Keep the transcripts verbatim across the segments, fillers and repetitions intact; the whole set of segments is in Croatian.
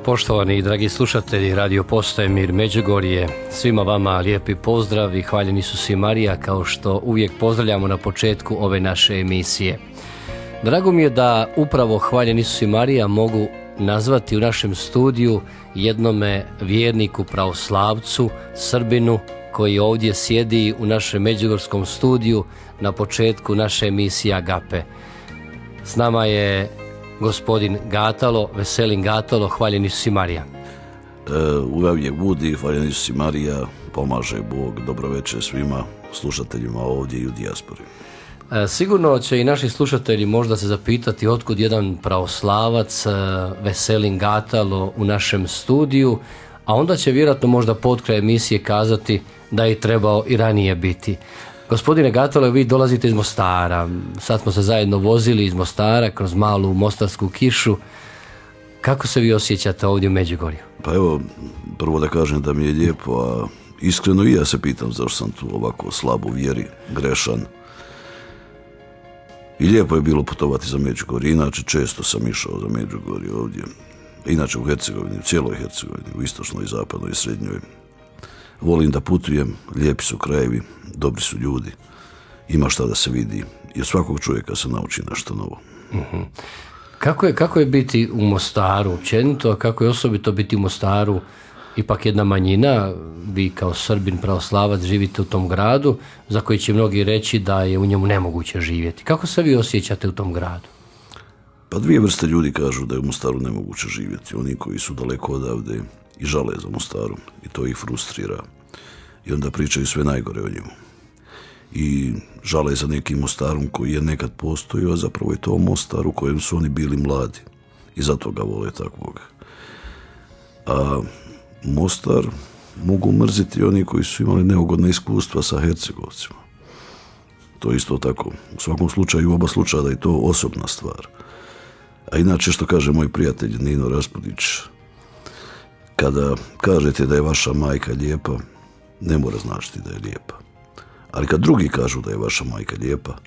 Poštovani i dragi slušatelji Radio Postaje Mir Međugorje, svima vama lijepi pozdrav i hvaljen Isus i Marija, kao što uvijek pozdravljamo na početku ove naše emisije. Drago mi je da upravo hvaljen Isus i Marija mogu nazvati u našem studiju jednome vjerniku, pravoslavcu, Srbinu, koji ovdje sjedi u našem međugorskom studiju na početku naše emisije Agape. S nama je gospodin Gatalo, Veselin Gatalo, hvaljen Isus i Marija. E, uvijek budi, hvaljen Isus i Marija, pomaže Bog, dobro večer svima slušateljima ovdje i u dijaspori. E, sigurno će i naši slušatelji možda se zapitati otkud jedan pravoslavac, e, Veselin Gatalo u našem studiju, a onda će vjerojatno možda potkraj emisije kazati da je trebao i ranije biti. Gospodine Gatalo, vi dolazite iz Mostara, sad smo se zajedno vozili iz Mostara kroz malu mostarsku kišu. Kako se vi osjećate ovdje u Međugorju? Pa evo, prvo da kažem da mi je lijepo, a iskreno i ja se pitam zašto sam tu ovako slab u vjeri, grešan. I lijepo je bilo putovati za Međugorje, inače često sam išao za Međugorje ovdje. Inače u Hercegovini, u cijeloj Hercegovini, u istočnoj, zapadnoj i srednjoj. Volim da putujem, lijepi su krajevi, dobri su ljudi, ima šta da se vidi i od svakog čovjeka se nauči nešto novo. Uh-huh. Kako je, kako je biti u Mostaru općenito, a kako je osobito biti u Mostaru, ipak jedna manjina, vi kao Srbin, pravoslavac živite u tom gradu za koji će mnogi reći da je u njemu nemoguće živjeti. Kako se vi osjećate u tom gradu? Pa dvije vrste ljudi kažu da je u Mostaru nemoguće živjeti. Oni koji su daleko odavde i žale za Mostarom i to ih frustrira i onda pričaju sve najgore o njemu i žale za nekim Mostarom koji je nekad postojao, a zapravo je to Mostar u kojem su oni bili mladi i zato ga vole takvog. A Mostar mogu mrziti oni koji su imali neugodne iskustva sa Hercegovcima. To je isto tako. U svakom slučaju, u oba slučaja da je to osobna stvar. A inače, što kaže moj prijatelj Nino Raspudić, kada kažete da je vaša majka lijepa, ne mora značiti da je lijepa. Ali kad drugi kažu da je vaša majka lijepa,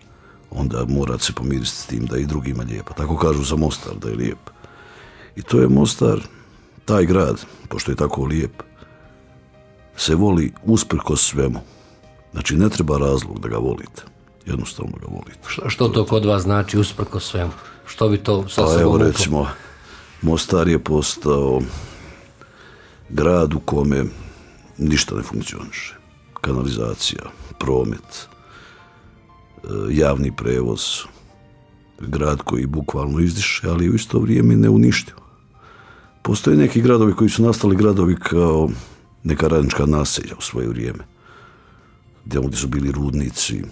onda morate se pomiriti s tim da je i drugima lijepa. Tako kažu za Mostar da je lijep. I to je Mostar, taj grad, pošto je tako lijep, se voli usprkos svemu. Znači ne treba razlog da ga volite. Jednostavno ga volite. Što, što to kod vas znači usprkos svemu? Što bi to sa pa sobom evo uklo? Recimo, Mostar je postao grad u kome ništa ne funkcioniše. Kanalizacija, promet, javni prevoz, grad koji bukvalno izdiše, ali u isto vrijeme ne uništio. Postoje neki gradovi koji su nastali gradovi kao neka radnička naselja u svoje vrijeme. Gdje su bili rudnici,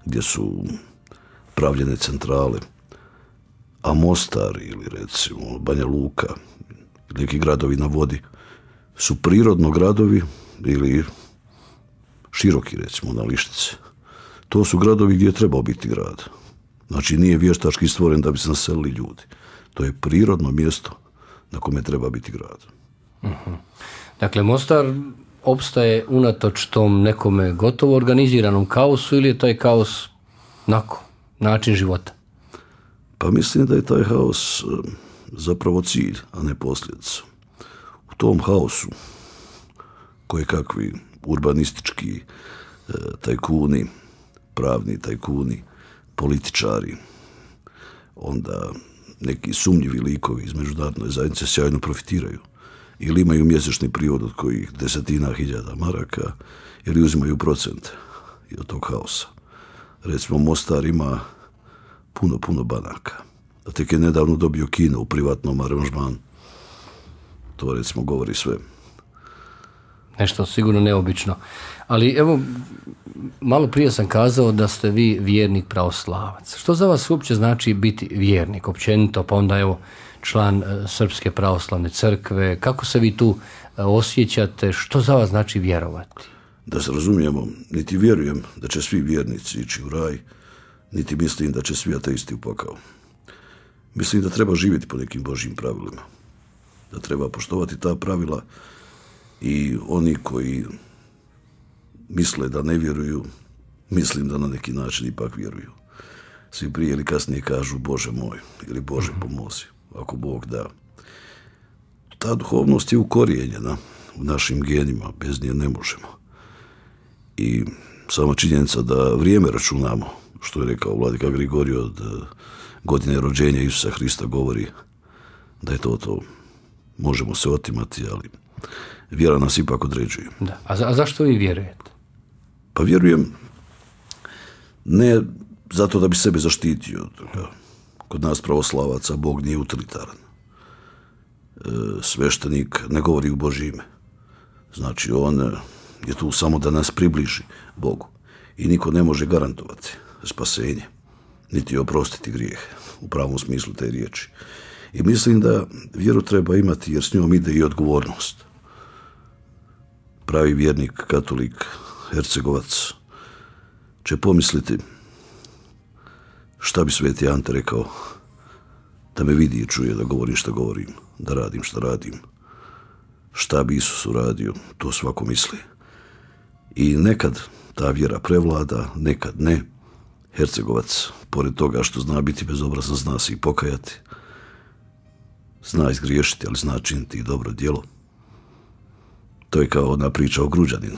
gdje su pravljene centrale. A Mostar ili recimo Banja Luka, neki gradovi na vodi, su prirodno gradovi ili široki recimo na Lištice. To su gradovi gdje je trebao biti grad. Znači nije vještački stvoren da bi se naselili ljudi. To je prirodno mjesto na kome treba biti grad. Uh-huh. Dakle, Mostar opstaje unatoč tom nekome gotovo organiziranom kaosu ili je taj kaos nako, način života? Pa mislim da je taj haos zapravo cilj, a ne posljedica. U tom haosu koje kakvi urbanistički e, tajkuni, pravni tajkuni, političari, onda neki sumnjivi likovi iz međunarodne zajednice sjajno profitiraju. Ili imaju mjesečni prihod od kojih desetina hiljada maraka, ili uzimaju procent od tog haosa. Recimo, Mostar ima puno, puno banaka. A tek je nedavno dobio kino u privatnom aranžmanu. To recimo govori sve. Nešto sigurno neobično. Ali evo, malo prije sam kazao da ste vi vjernik pravoslavac. Što za vas uopće znači biti vjernik općenito, pa onda evo član Srpske pravoslavne crkve? Kako se vi tu osjećate? Što za vas znači vjerovati? Da se razumijemo, niti vjerujem da će svi vjernici ići u raj, niti mislim da će svi ateisti u pakao. Mislim da treba živjeti po nekim Božjim pravilima. Da treba poštovati ta pravila i oni koji misle da ne vjeruju, mislim da na neki način ipak vjeruju. Svi prije ili kasnije kažu Bože moj ili Bože pomozi, ako Bog da. ta duhovnost je ukorijenjena u našim genima, bez nje ne možemo. I sama činjenica da vrijeme računamo, što je rekao vladika Grigorije, od godine rođenja Isusa Hrista govori da je to to. Možemo se otimati, ali vjera nas ipak određuje. Da. A, za, a zašto vi vjerujete? Pa vjerujem ne zato da bi sebe zaštitio. Kod nas pravoslavaca Bog nije utilitaran. E, sveštenik ne govori u Božje ime. Znači on je tu samo da nas približi Bogu. I niko ne može garantovati spasenje, niti oprostiti grijehe, u pravom smislu te riječi. I mislim da vjeru treba imati jer s njom ide i odgovornost. Pravi vjernik, katolik, Hercegovac će pomisliti šta bi sveti Ante rekao da me vidi i čuje da govorim šta govorim, da radim šta radim. Šta bi Isus uradio, to svako misli. I nekad ta vjera prevlada, nekad ne. Hercegovac, pored toga što zna biti bezobrazan, zna se i pokajati. Zna izgriješiti, ali zna činiti i dobro djelo. To je kao ona priča o Gruđaninu.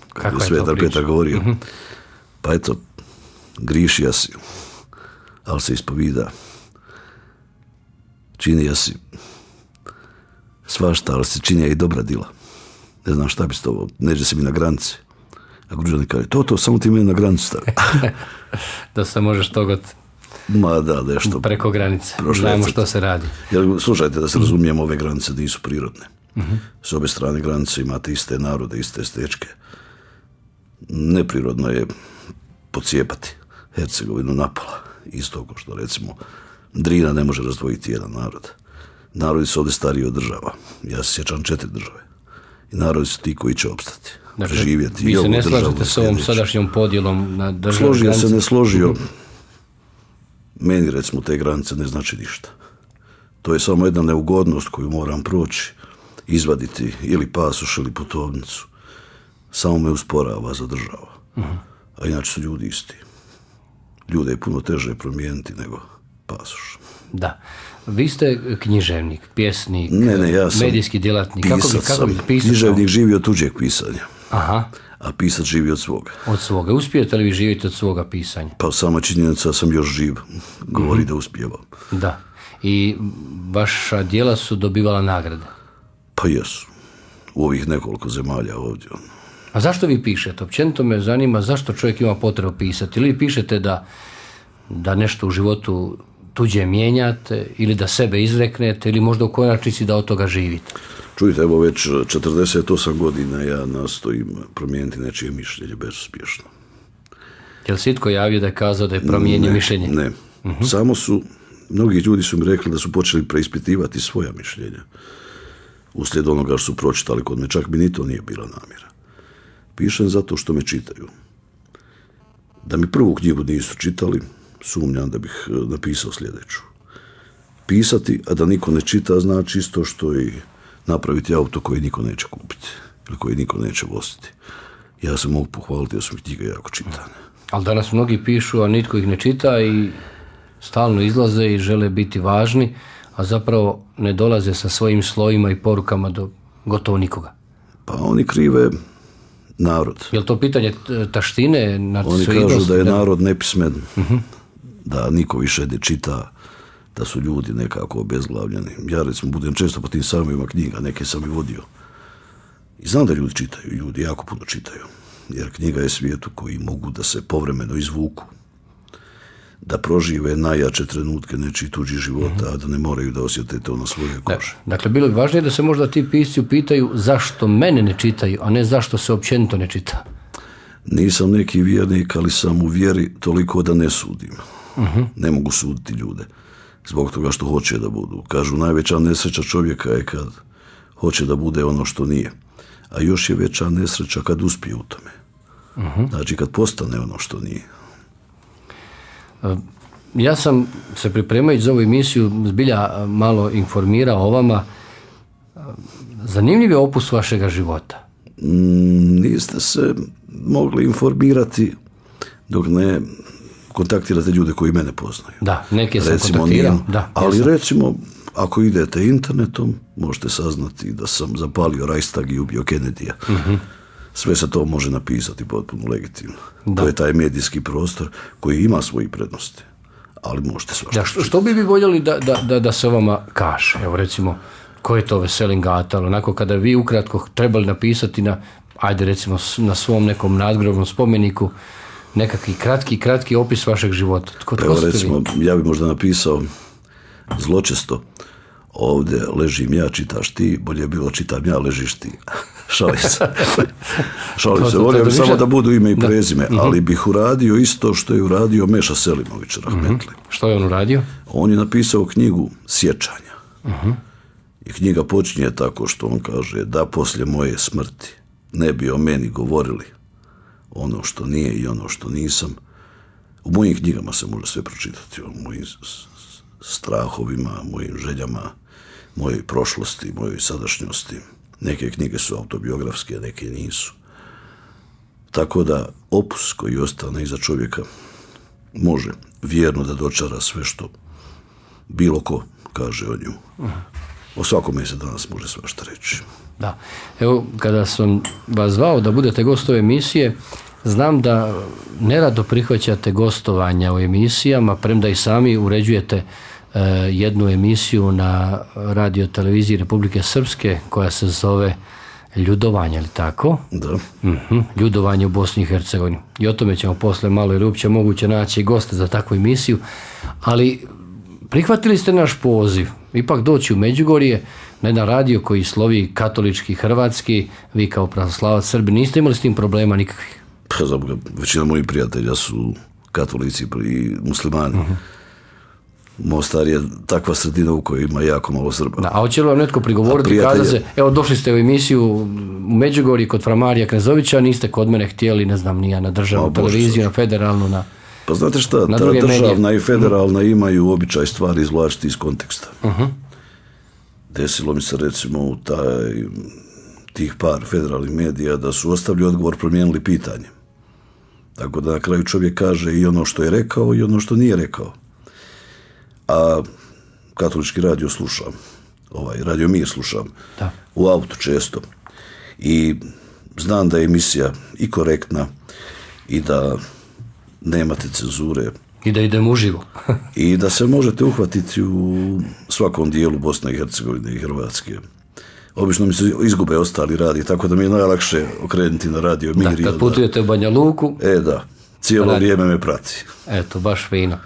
Kako je Svetar to priča? Petar govorio. Mm-hmm. Pa eto, grišija si, ali se ispovida. Činija si svašta, ali se činija i dobra djela. Ne znam šta bi s to, neđe se mi na granice. A Gruđanin kaže, to, to, samo ti mene na granicu stavi. Da se možeš togot Ma da, nešto. Preko granice. Znamo što se radi. Jer, slušajte, da se razumijemo, ove granice nisu prirodne. Uh-huh. S obe strane granice imate iste narode, iste stečke. Neprirodno je pocijepati Hercegovinu napola. Isto kao što, recimo, Drina ne može razdvojiti jedan narod. Narodi su ovdje stariji od država. Ja se sjećam četiri države. I narodi su ti koji će opstati. Dakle, živjeti. Vi i se ne državu slažete s ovom sadašnjom podjelom na državne Složio granice? se, ne složio. Meni, recimo, te granice ne znači ništa. To je samo jedna neugodnost koju moram proći, izvaditi ili pasoš ili putovnicu. Samo me usporava, zadržava. Uh-huh. A inače su ljudi isti. Ljude je puno teže promijeniti nego pasoš. Da. Vi ste književnik, pjesnik, ne, ne, ja sam medijski djelatnik. Pisac kako bi, kako bi sam. pisac? Književnik živi od tuđeg pisanja. Aha. A pisac živi od svoga. Od svoga. Uspijete li vi živjeti od svoga pisanja? Pa sama činjenica sam još živ. Govori mm-hmm. da uspijevam. Da. I vaša djela su dobivala nagrade? Pa jesu. U ovih nekoliko zemalja ovdje. A zašto vi pišete? Općenito me zanima zašto čovjek ima potrebu pisati. Ili vi pišete da, da nešto u životu tuđe mijenjate, ili da sebe izreknete, ili možda u konačnici da od toga živite? Čujte, evo već četrdeset osam godina ja nastojim promijeniti nečije mišljenje bezuspješno. Je li si itko javio da je kazao da je promijenio mišljenje? Ne, uh-huh. Samo su, mnogi ljudi su mi rekli da su počeli preispitivati svoja mišljenja. Uslijed onoga što su pročitali kod me, čak mi ni to nije bila namjera. Pišem zato što me čitaju. Da mi prvu knjigu nisu čitali, sumnjam da bih napisao sljedeću. Pisati, a da niko ne čita, znači isto što i napraviti auto koji niko neće kupiti ili koji niko neće voziti. Ja se mogu pohvaliti da su mi knjige jako čitane. Ali danas mnogi pišu, a nitko ih ne čita i stalno izlaze i žele biti važni, a zapravo ne dolaze sa svojim slovima i porukama do gotovo nikoga. Pa oni krive narod. Je li to pitanje taštine? Oni kažu da je narod nepismen, uh-huh. da niko više ne čita, da su ljudi nekako obezglavljeni. Ja recimo budem često po tim sajmovima knjiga, neke sam i vodio. I znam da ljudi čitaju, ljudi jako puno čitaju. Jer knjiga je svijet u koji mogu da se povremeno izvuku, da prožive najjače trenutke nečiji tuđi života, mm-hmm. a da ne moraju da osjete to na svoje kože. Dakle, bilo bi važnije da se možda ti pisci upitaju zašto mene ne čitaju, a ne zašto se općenito ne čita. Nisam neki vjernik, ali sam u vjeri toliko da ne sudim. Mm-hmm. Ne mogu suditi ljude. Zbog toga što hoće da budu. Kažu, najveća nesreća čovjeka je kad hoće da bude ono što nije. A još je veća nesreća kad uspije u tome. Uh-huh. Znači kad postane ono što nije. Ja sam se pripremajući za ovu emisiju zbilja malo informirao o vama. Zanimljiv je opus vašega života. Mm, niste se mogli informirati dok ne kontaktirate ljude koji mene poznaju. Da, neke sam recimo, kontaktirao. Da, ali jesam. recimo, ako idete internetom, možete saznati da sam zapalio Reichstag i ubio Kennedyja. Uh-huh. Sve se to može napisati potpuno legitimno. Da. To je taj medijski prostor koji ima svoje prednosti, ali možete svašta. Da, što, što bi vi voljeli da, da, da, da se o vama kaže? Evo recimo, ko je to Veselin Gatal? Onako kada vi ukratko trebali napisati na, ajde recimo na svom nekom nadgrobnom spomeniku nekakvi kratki, kratki opis vašeg života. Tko, Evo recimo, ja bi možda napisao zločesto, ovdje ležim ja, čitaš ti, bolje je bilo čitam ja, ležiš ti. Šalim se. Šalim se, volio bi samo da budu ime i prezime, da. Ali bih uradio isto što je uradio Meša Selimović, rahmetli. Uh-huh. Što je on uradio? On je napisao knjigu Sjećanja. Uh-huh. I knjiga počinje tako što on kaže da poslije moje smrti ne bi o meni govorili ono što nije i ono što nisam. U mojim knjigama se može sve pročitati, o mojim strahovima, mojim željama, mojoj prošlosti, mojoj sadašnjosti. Neke knjige su autobiografske, neke nisu. Tako da opus koji ostane iza čovjeka može vjerno da dočara sve što bilo ko kaže o njemu. O svakome se danas može svašta reći. Da. Evo, kada sam vas zvao da budete gost ove emisije, znam da nerado prihvaćate gostovanja u emisijama, premda i sami uređujete uh, jednu emisiju na radio televiziji Republike Srpske koja se zove Ljudovanje, ali tako? Da. Uh-huh. Ljudovanje u Bosni i Hercegovini. I o tome ćemo posle malo ili uopće moguće naći goste za takvu emisiju, ali prihvatili ste naš poziv, ipak doći u Međugorje na jedan radio koji slovi katolički, hrvatski, vi kao pravoslavac Srbi, niste imali s tim problema nikakvih? Pa zaboga, većina mojih prijatelja su katolici i muslimani. Uh-huh. Mostar je takva sredina u kojoj ima jako malo Srba. Da, a hoće li vam netko prigovoriti, prijatelja... kaza se, evo došli ste u emisiju u Međugorje kod Framarija Knezovića, niste kod mene htjeli, ne znam, nija na državnu televiziju, na federalnu, na... Pa znate šta, ta državna medije. I federalna uh-huh. imaju običaj stvari izvlačiti iz konteksta. Uh-huh. Desilo mi se recimo u taj, tih par federalnih medija da su ostavili odgovor, promijenili pitanje. Tako da na kraju čovjek kaže i ono što je rekao i ono što nije rekao. A katolički radio slušam, ovaj, Radio Mir slušam, da. U autu često. I znam da je emisija i korektna i da nemate cenzure. I da idemo uživo. I da se možete uhvatiti u svakom dijelu Bosne i Hercegovine i Hrvatske. Obično mi se izgube ostali radi, tako da mi je najlakše okrenuti na Radio Mir. Da, kad putujete u Banja Luku. E da, cijelo radi. Vrijeme me prati. Eto, baš fino.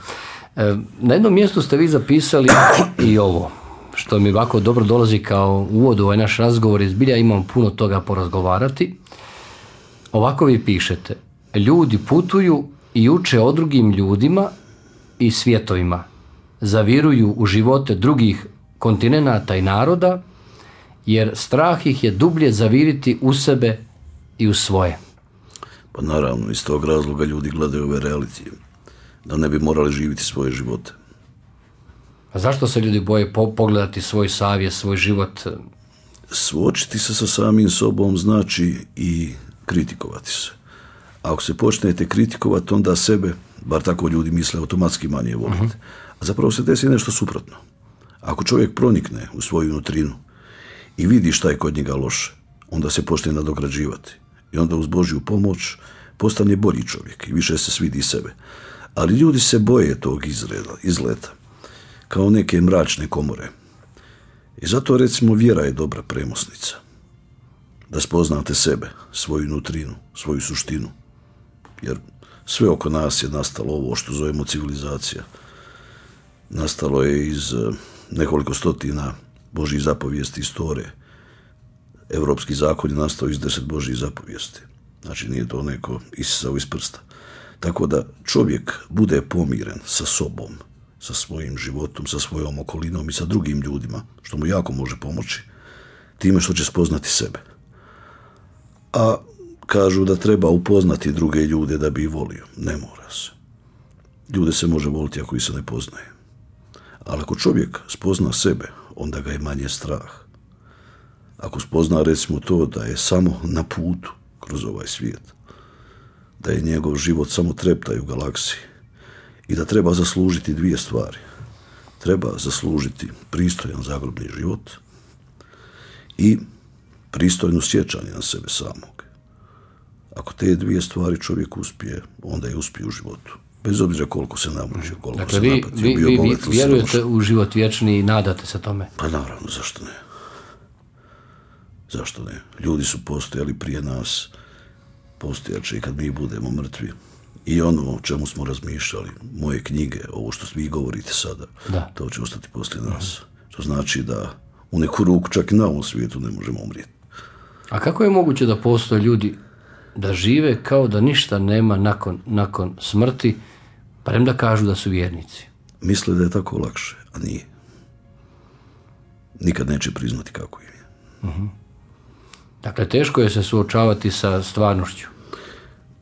E, na jednom mjestu ste vi zapisali i ovo, što mi ovako dobro dolazi kao uvod u ovaj naš razgovor, izbilja imam puno toga porazgovarati. Ovako vi pišete, ljudi putuju i uče o drugim ljudima i svjetovima, zaviruju u živote drugih kontinenata i naroda, jer strah ih je dublje zaviriti u sebe i u svoje. Pa naravno, iz tog razloga ljudi gledaju ove realitije, da ne bi morali živjeti svoje živote. A zašto se ljudi boje po- pogledati svoj savjest, svoj život? Suočiti se sa samim sobom znači i kritikovati se. Ako se počnete kritikovati, onda sebe, bar tako ljudi misle, automatski manje volite. Uh-huh. A zapravo se desi nešto suprotno. Ako čovjek pronikne u svoju nutrinu i vidi šta je kod njega loše, onda se počne nadograđivati. I onda uz Božju pomoć postane bolji čovjek i više se svidi sebe. Ali ljudi se boje tog izreda, izleta, kao neke mračne komore. I zato recimo vjera je dobra premosnica. Da spoznate sebe, svoju nutrinu, svoju suštinu. Jer sve oko nas je nastalo ovo što zovemo civilizacija. Nastalo je iz nekoliko stotina Božjih zapovijesti istorije. Evropski zakon je nastao iz deset Božjih zapovijesti. Znači nije to neko isisao iz prsta. Tako da čovjek bude pomiren sa sobom, sa svojim životom, sa svojom okolinom i sa drugim ljudima, što mu jako može pomoći, time što će spoznati sebe. A kažu da treba upoznati druge ljude da bi ih volio. Ne mora se. Ljude se može voliti ako ih se ne poznaje. Ali ako čovjek spozna sebe, onda ga je manje strah. Ako spozna recimo to da je samo na putu kroz ovaj svijet, da je njegov život samo treptaj u galaksiji i da treba zaslužiti dvije stvari. treba zaslužiti pristojan zagrobni život i pristojno sjećanje na sebe samog. Ako te dvije stvari čovjek uspije, onda je uspije u životu. Bez obzira koliko se namučio, koliko dakle, se vi, napatio, vi, bio vi, bogat vi vjerujete u život vječni i nadate se tome? Pa naravno, zašto ne? Zašto ne? Ljudi su postojali prije nas, postojaće i kad mi budemo mrtvi. I ono o čemu smo razmišljali, moje knjige, ovo što vi govorite sada, da. To će ostati poslije nas. To znači da u neku ruku čak i na ovom svijetu ne možemo umrijeti. A kako je moguće da postoje ljudi da žive kao da ništa nema nakon, nakon smrti, premda kažu da su vjernici? Misle da je tako lakše, a nije. Nikad neće priznati kako im je. Uh-huh. Dakle, teško je se suočavati sa stvarnošću.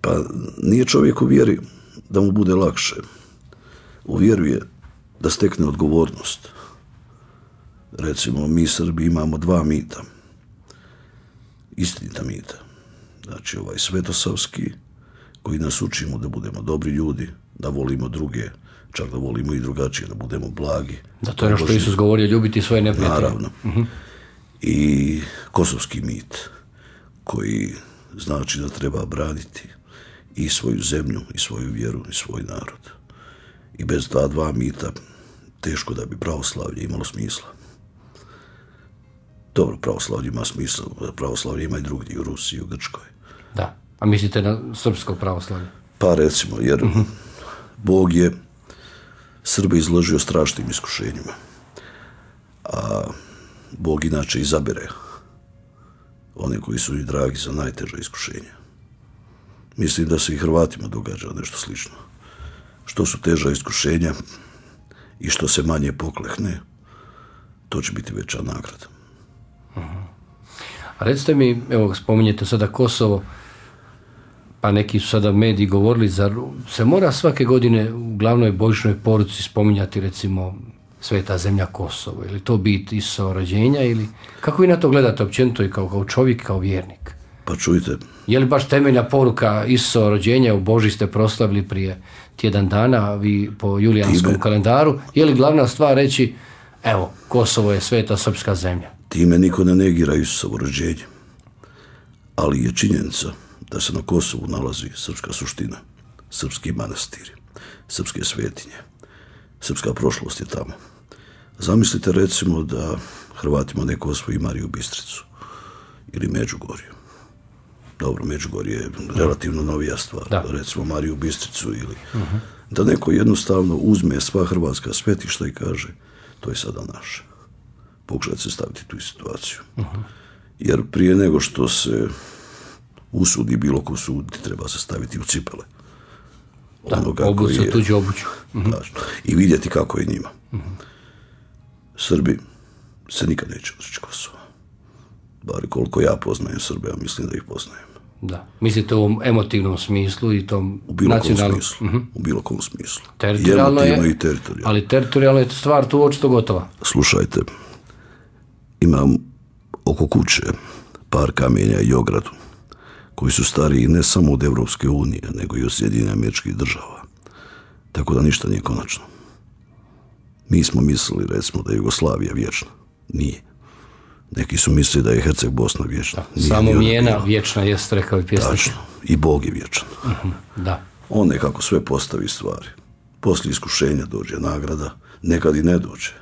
Pa nije čovjek u vjeri da mu bude lakše. U vjeru je da stekne odgovornost. Recimo, mi Srbi imamo dva mita. Istinita mita. Znači, ovaj svetosavski, koji nas učimo da budemo dobri ljudi, da volimo druge, čak da volimo i drugačije, da budemo blagi. Da, to je ono što Isus govorio, ljubiti svoje neprijatelje. Naravno. Uh-huh. I kosovski mit, koji znači da treba braniti i svoju zemlju, i svoju vjeru, i svoj narod. I bez ta dva mita teško da bi pravoslavlje imalo smisla. Dobro, pravoslavlje ima smisla, pravoslavlje ima i drugdje, i u Rusiji, i u Grčkoj. Da, a mislite na srpsko pravoslavlje? Pa recimo, jer uh-huh. Bog je Srbe izložio strašnim iskušenjima. A Bog inače izabere one koji su i dragi za najteža iskušenja. Mislim da se i Hrvatima događa nešto slično. Što su teža iskušenja i što se manje poklekne, to će biti veća nagrada. Uh-huh. A recite mi, evo spominjete sada Kosovo, pa neki su sada mediji govorili, zar se mora svake godine u glavnoj božićnoj poruci spominjati recimo Sveta zemlja Kosovo, ili to bit Isusova rođenja, ili kako vi na to gledate općenito i kao, kao čovjek, kao vjernik? Pa čujte. Je li baš temeljna poruka Isusova rođenja, u Božji ste proslavili prije tjedan dana, vi po julijanskom time, kalendaru, je li glavna stvar reći, evo, Kosovo je sveta srpska zemlja? Time niko ne negira Isusovo rođenje, ali je činjenica da se na Kosovu nalazi srpska suština, srpski manastiri, srpske svetinje. Srpska prošlost je tamo. Zamislite recimo da Hrvatima neko osvoji Mariju Bistricu ili Međugorju. Dobro, Međugorje je relativno novija stvar. Da. Recimo Mariju Bistricu ili uh-huh. da neko jednostavno uzme sva hrvatska svetišta i kaže to je sada naše. Pokušajte se staviti tu situaciju. Uh-huh. Jer prije nego što se usudi bilo ko suditi, treba se staviti u cipele. Da, obuću, tuđu obuću. Uh-huh. I vidjeti kako je njima. Uh-huh. Srbi se nikad neće odreći Kosova. Bar koliko ja poznajem Srbe, ja mislim da ih poznajem. Da. Mislite u ovom emotivnom smislu i tom u bilo nacionalnom smislu. Uh-huh. U bilo kom smislu. Teritorijalno je, i teritorijalno. Ali teritorijalno je stvar tu očito gotova. Slušajte, imam oko kuće par kamenja i ogradu koji su stariji ne samo od Evropske unije, nego i od Sjedinjenih Američkih Država. Tako da ništa nije konačno. Mi smo mislili, recimo, da je Jugoslavija vječna. Nije. Neki su mislili da je Herceg Bosna vječna. Samo Mijena vječna, jest rekao i pjesnik. Tačno. I Bog je vječan. Uh-huh. Da. On nekako sve postavi stvari. Poslije iskušenja dođe nagrada, nekad i ne dođe.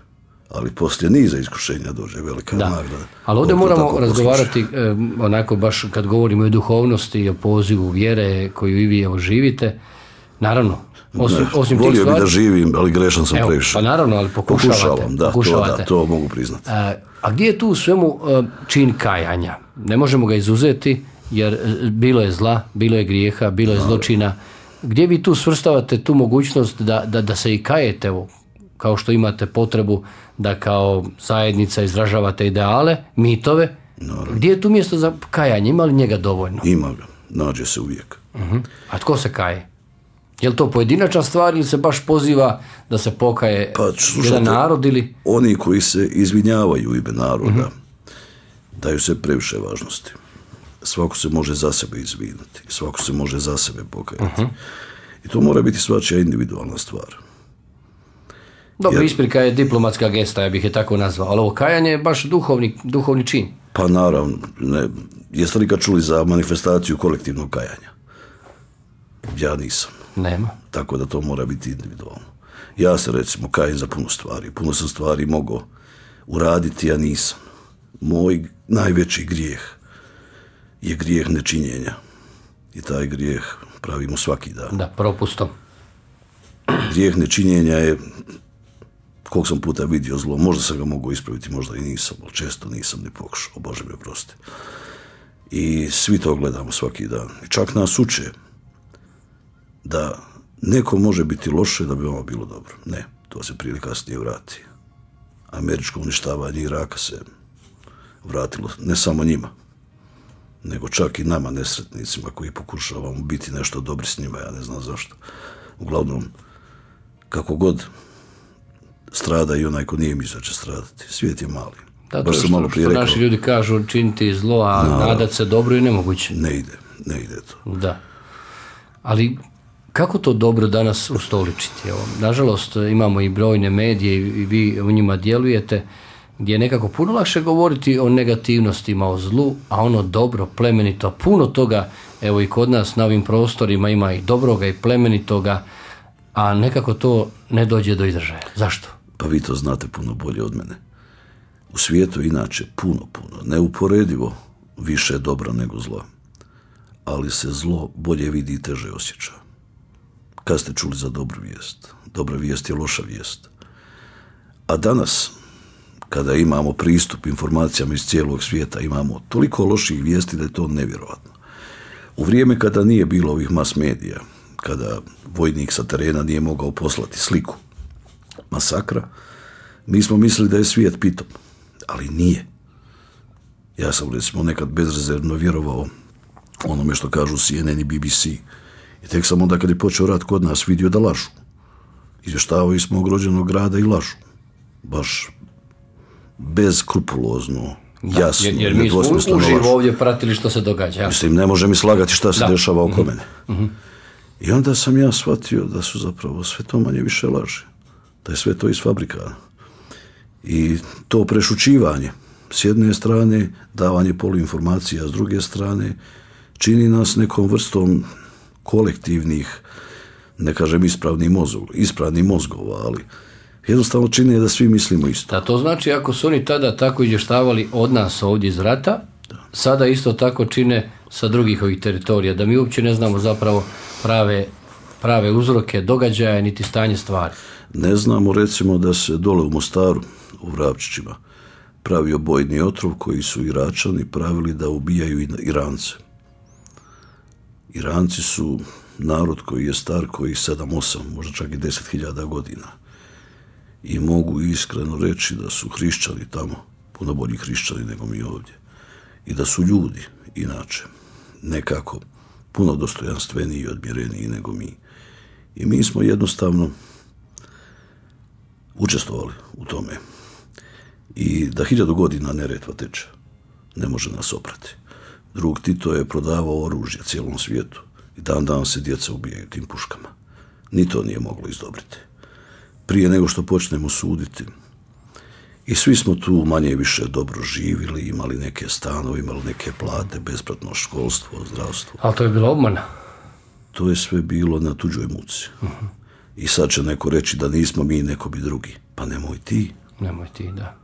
Ali poslije niza iskušenja dođe velika da. nagrada. Ali ovdje moramo razgovarati eh, onako baš kad govorimo o duhovnosti i o pozivu vjere koju i vi evo živite. Naravno, osim, ne, osim volio stvari, bi da živim, ali grešan sam evo, previše. Pa naravno, ali pokušavate. Pokušavam, da, pokušavate. To, da, to mogu priznati. A, a gdje je tu u svemu čin kajanja? Ne možemo ga izuzeti, jer bilo je zla, bilo je grijeha, bilo je zločina. Gdje vi tu svrstavate tu mogućnost da, da, da se i kajete, evo, kao što imate potrebu da kao zajednica izražavate ideale, mitove, naravno. Gdje je tu mjesto za kajanje? Ima li njega dovoljno? Ima ga, nađe se uvijek. Uh-huh. A tko se kaje? Je li to pojedinačna stvar ili se baš poziva da se pokaje pa, slušajte, jedan narod ili... Oni koji se izvinjavaju u ime naroda, uh-huh. daju se previše važnosti. Svako se može za sebe izviniti, svako se može za sebe pokajati. Uh-huh. I to mora biti svačija individualna stvar. Dobro, jer isprika je diplomatska gesta, ja bih je tako nazvao, ali ovo kajanje je baš duhovni, duhovni čin. Pa naravno, ne. Jeste li kad čuli za manifestaciju kolektivnog kajanja? Ja nisam. Nema. Tako da to mora biti individualno. Ja se recimo kajem za puno stvari. Puno sam stvari mogao uraditi, ja nisam. Moj najveći grijeh je grijeh nečinjenja. I taj grijeh pravimo svaki dan. Da, propustom. Grijeh nečinjenja je, koliko sam puta vidio zlo, možda sam ga mogao ispraviti, možda i nisam, ali često nisam ni pokušao, Bože mi oprosti. I svi to gledamo svaki dan. I čak nas uče da neko može biti loše da bi vama bilo dobro. Ne, to se prije ili kasnije vrati. Američko uništavanje Iraka se vratilo ne samo njima, nego čak i nama nesretnicima koji pokušavamo biti nešto dobri s njima, ja ne znam zašto. Uglavnom, kako god strada i onaj ko nije mislio će stradati. Svijet je mali. Da, to je što, malo što naši ljudi kažu činiti zlo, a no, nadat se dobro je nemoguće. Ne ide, ne ide to. Da. Ali kako to dobro danas ustoličiti? Evo, nažalost, imamo i brojne medije i vi u njima djelujete, gdje je nekako puno lakše govoriti o negativnostima, o zlu, a ono dobro, plemenito, puno toga, evo i kod nas na ovim prostorima ima i dobroga i plemenitoga, a nekako to ne dođe do izražaja. Zašto? Pa vi to znate puno bolje od mene. U svijetu inače puno, puno, neuporedivo više dobra nego zla. Ali se zlo bolje vidi i teže osjeća. Kad ste čuli za dobru vijest? Dobra vijest je loša vijest. A danas, kada imamo pristup informacijama iz cijelog svijeta, imamo toliko loših vijesti da je to nevjerojatno. U vrijeme kada nije bilo ovih mas medija, kada vojnik sa terena nije mogao poslati sliku masakra, mi smo mislili da je svijet pitom, ali nije. Ja sam recimo nekad bezrezervno vjerovao onome što kažu C N N i B B C. I tek sam onda kad je počeo rat kod nas vidio da lažu. Izvještavaju smo ogrođenog grada i lažu. Baš bezkrupulozno, jasno, jer, jer mi smo uživo ovdje pratili što se događa. Mislim, ne može mi slagati šta se da. dešava oko mm-hmm. mene. Mm-hmm. I onda sam ja shvatio da su zapravo sve to manje više laži. Da je sve to iz fabrika. I to prešućivanje, s jedne strane, davanje poluinformacija, a s druge strane, čini nas nekom vrstom kolektivnih, ne kažem ispravnih mozgova, ispravnih mozgova, ali jednostavno čini da svi mislimo isto. Da, to znači ako su oni tada tako izvještavali od nas ovdje iz rata, da. Sada isto tako čine sa drugih ovih teritorija, da mi uopće ne znamo zapravo prave, prave uzroke događaja niti stanje stvari. Ne znamo recimo da se dole u Mostaru, u Vrapčićima, pravio bojni otrov koji su Iračani pravili da ubijaju Irance. Iranci su narod koji je star koji sedam, osam, možda čak i deset hiljada godina. I mogu iskreno reći da su hrišćani tamo, puno bolji hrišćani nego mi ovdje. I da su ljudi, inače, nekako puno dostojanstveniji i odmjereniji nego mi. I mi smo jednostavno učestvovali u tome. I da hiljadu godina Neretva teče, ne može nas oprati. Drug Tito je prodavao oružje cijelom svijetu i dan dan se djeca ubijaju tim puškama. Ni to nije moglo izdobriti. Prije nego što počnemo suditi, i svi smo tu manje i više dobro živjeli, imali neke stanove, imali neke plate, besplatno školstvo, zdravstvo. Ali to je bilo obmana? To je sve bilo na tuđoj muci. Uh-huh. I sad će neko reći da nismo mi, neko bi drugi. Pa nemoj ti. Nemoj ti, da.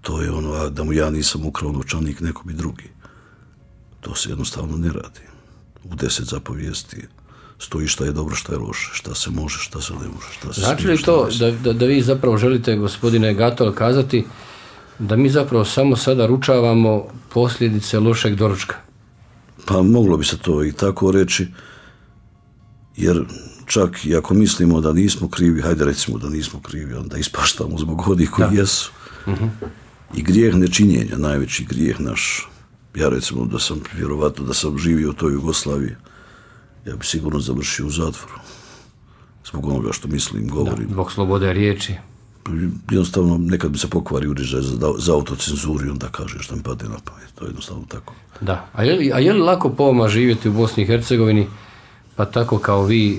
To je ono, a da mu ja nisam ukrao novčanik, neko bi drugi. To se jednostavno ne radi. U deset zapovijesti stoji šta je dobro, šta je loše, šta se može, šta se ne može. Šta se znači li to da, da, da vi zapravo želite, gospodine Gatol, kazati da mi zapravo samo sada ručavamo posljedice lošeg doručka? Pa moglo bi se to i tako reći, jer čak i ako mislimo da nismo krivi, hajde recimo da nismo krivi, onda ispaštamo zbog onih koji da. jesu. Uh-huh. I grijeh nečinjenja, najveći grijeh naš. Ja recimo da sam, vjerovatno da sam živio u toj Jugoslaviji, ja bi sigurno završio u zatvoru. Zbog onoga što mislim, govorim. Da, zbog slobode riječi. Jednostavno, nekad bi se pokvari uređaj za, za autocenzuru i onda kažeš što mi padne na pamet. To je jednostavno tako. Da. A je li, a je li lako po vama živjeti u Bosni i Hercegovini pa tako kao vi e,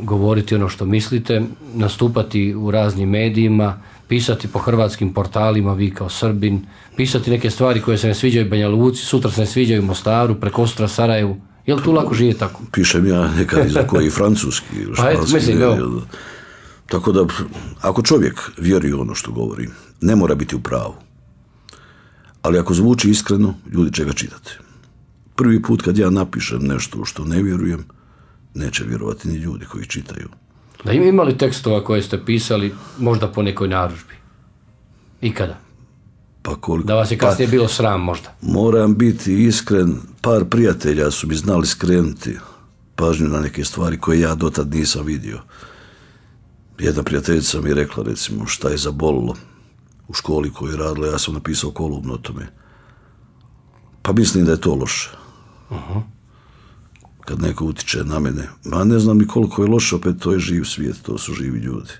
govoriti ono što mislite, nastupati u raznim medijima, pisati po hrvatskim portalima, vi kao Srbin, pisati neke stvari koje se ne sviđaju Banja Luci, sutra se ne sviđaju Mostaru, prekosutra Sarajevu. Je li tu lako živjeti tako? Pišem ja nekad i za koji francuski ili španski. Pa mislim, ne, tako da, ako čovjek vjeruje ono što govori, ne mora biti u pravu. Ali ako zvuči iskreno, ljudi će ga čitati. Prvi put kad ja napišem nešto što ne vjerujem, neće vjerovati ni ljudi koji čitaju. Da ima imali tekstova koje ste pisali možda po nekoj narudžbi? Ikada? Pa koliko? Da vas je kasnije pa, bilo sram možda? Moram biti iskren, par prijatelja su mi znali skrenuti pažnju na neke stvari koje ja dotad nisam vidio. Jedna prijateljica mi je rekla, recimo, šta je zabolilo u školi koju je radila, ja sam napisao kolumnu o tome. Pa mislim da je to loše. Uh-huh. Kad neko utiče na mene. Ma ne znam ni koliko je loše, opet to je živ svijet, to su živi ljudi.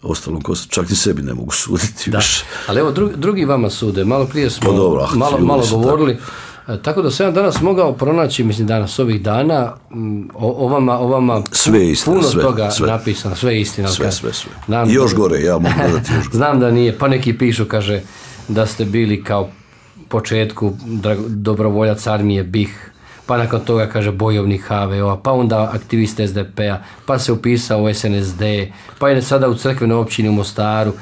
Ostalom, čak ni sebi ne mogu suditi. Da, više. Ali evo, drugi, drugi vama sude. Malo prije smo pa dobro, malo, malo govorili. Tako. tako da sam ja danas mogao pronaći, mislim danas ovih dana, o, o vama, o vama sve istina, puno sve, toga sve. napisano, sve istina. Sve, sve, sve. Znam, još gore, ja mogu dodati još gore. Znam da nije, pa neki pišu, kaže, da ste bili kao početku dobrovoljac armije B I H, pa nakon toga, kaže, bojovnik H V O-a, pa onda aktivist S D P-a, pa se upisao u S N S D, pa je sada u crkvenoj općini u Mostaru,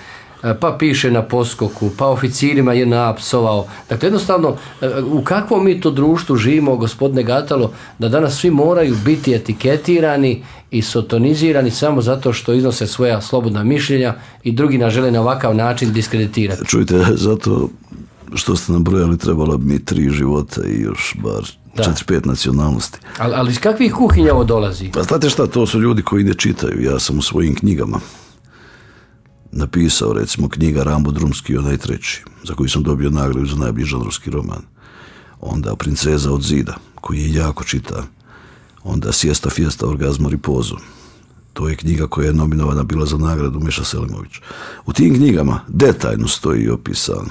pa piše na poskoku, pa oficirima je napsovao. Dakle, jednostavno, u kakvom mi to društvu živimo, gospodine Gatalo, da danas svi moraju biti etiketirani i sotonizirani samo zato što iznose svoja slobodna mišljenja i drugi nas žele na ovakav način diskreditirati. Čujte, zato što ste nabrojali, trebalo bi mi tri života i još bar četiri, pet nacionalnosti. Ali, ali iz kakvih kuhinja ovo dolazi? Pa znate šta, to su ljudi koji ne čitaju. Ja sam u svojim knjigama napisao, recimo, knjiga Rambo Drumski, onaj treći, za koji sam dobio nagradu za najbolji žanrovski roman. Onda Princeza od zida, koji je jako čita. Onda Siesta, Fiesta, Orgazmo, Ripozo. To je knjiga koja je nominovana bila za nagradu Meša Selimović. U tim knjigama detaljno stoji opisano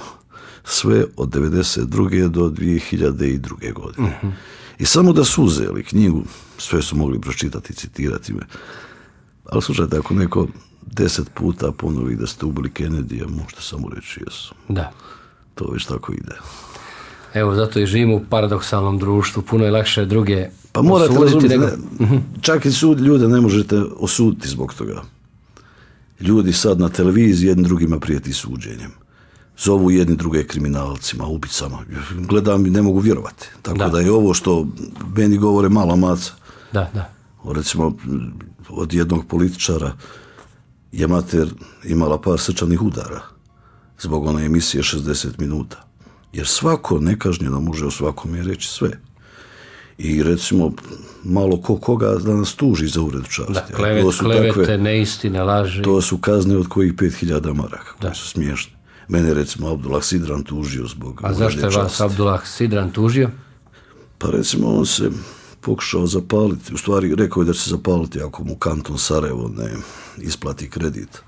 sve od devedeset druge do dvije hiljade druge. godine. Uh-huh. I samo da su uzeli knjigu, sve su mogli pročitati i citirati me. Ali slušajte, ako neko deset puta ponovi da ste ubili Kennedyja, možete samo reći jesu. Da. To već tako ide. Evo, zato i živimo u paradoksalnom društvu. Puno je lakše druge pa morate osuditi nego... nego... Čak i sud ljude ne možete osuditi zbog toga. Ljudi sad na televiziji jednim drugima prijeti suđenjem. Zovu jedni druge kriminalcima, ubicama. Gledam i ne mogu vjerovati. Tako da, da je ovo što meni govore mala maca. Da, da. Recimo, od jednog političara je mater imala par srčanih udara zbog one emisije šezdeset minuta. Jer svako nekažnjeno može o svakome reći sve. I recimo, malo ko koga da nas tuži za uvredu časti. Da, klevet, klevete, takve, neistine, laži. To su kazne od kojih pet hiljada maraka, koje su smiješne. Mene recimo Abdullah Sidran tužio zbog... A zašto je vas Abdullah Sidran tužio? Pa recimo on se pokušao zapaliti, u stvari rekao je da će se zapaliti ako mu kanton Sarajevo ne isplati kredit.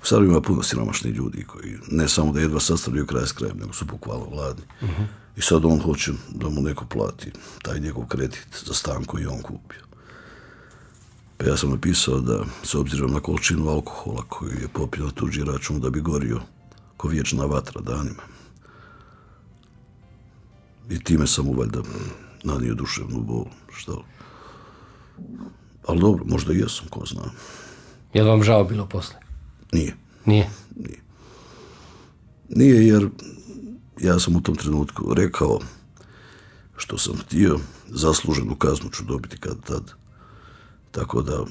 U Sarajevu ima puno siromašnih ljudi koji ne samo da jedva sastavljaju kraj s krajem, nego su bukvalno gladni. Uh-huh. I sad on hoće da mu neko plati taj njegov kredit za stan koji je on kupio. Pa ja sam napisao da, s obzirom na količinu alkohola koju je popio na tuđi račun, da bi gorio ko vječna vatra danima. I time sam mu valjda nanio duševnu bol. Šta? Ali dobro, možda i jesam, ko zna. Je li vam žao bilo posle? Nije. Nije? Nije. Nije jer ja sam u tom trenutku rekao što sam htio, zasluženu kaznu ću dobiti kad tad. Tako da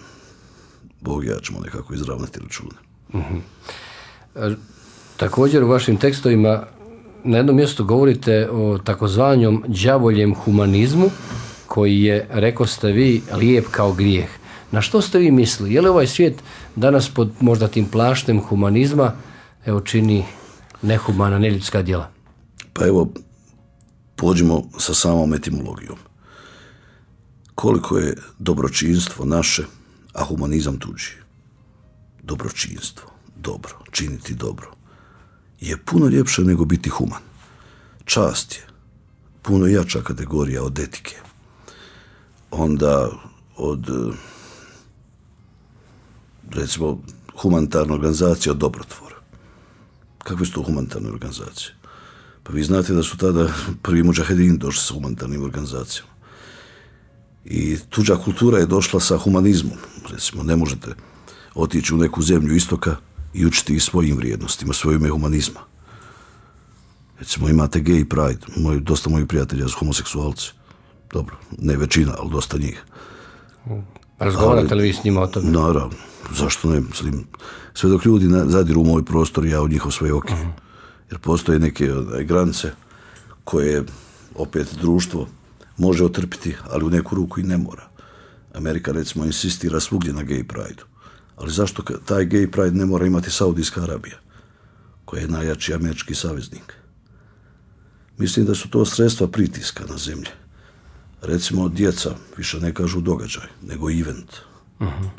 Bog i ja ćemo nekako izravnati račune. Uh-huh. E, također u vašim tekstovima na jednom mjestu govorite o takozvanom đavoljem humanizmu koji je, rekao ste vi, lijep kao grijeh. Na što ste vi mislili? Je li ovaj svijet danas pod možda tim plaštem humanizma evo čini nehumana, neljudska djela? Pa evo, pođimo sa samom etimologijom. Koliko je dobročinstvo naše, a humanizam tuđi? Dobročinstvo, dobro, činiti dobro, je puno ljepše nego biti human. Čast je puno jača kategorija od etike. Onda od, recimo, humanitarna organizacija Dobrotvor. Kakve su to humanitarne organizacije? Pa vi znate da su tada prvi mudžahedini došli sa humanitarnim organizacijama. I tuđa kultura je došla sa humanizmom. Recimo, ne možete otići u neku zemlju istoka i učiti ih svojim vrijednostima, svoje ime humanizma. Recimo, imate gay pride. Moj, dosta mojih prijatelja su homoseksualci. Dobro, ne većina, ali dosta njih. Razgovarate li vi s njima o tome? Naravno, zašto ne? Sve dok ljudi zadiru u moj prostor, ja u njihov svoje oke. Uh-huh. Jer postoje neke granice koje opet društvo može otrpiti, ali u neku ruku i ne mora. Amerika, recimo, insistira svugdje na gay pride-u. Ali zašto taj gay pride ne mora imati Saudijska Arabija, koja je najjači američki saveznik? Mislim da su to sredstva pritiska na zemlje. Recimo, djeca više ne kažu događaj, nego event. Uh-huh.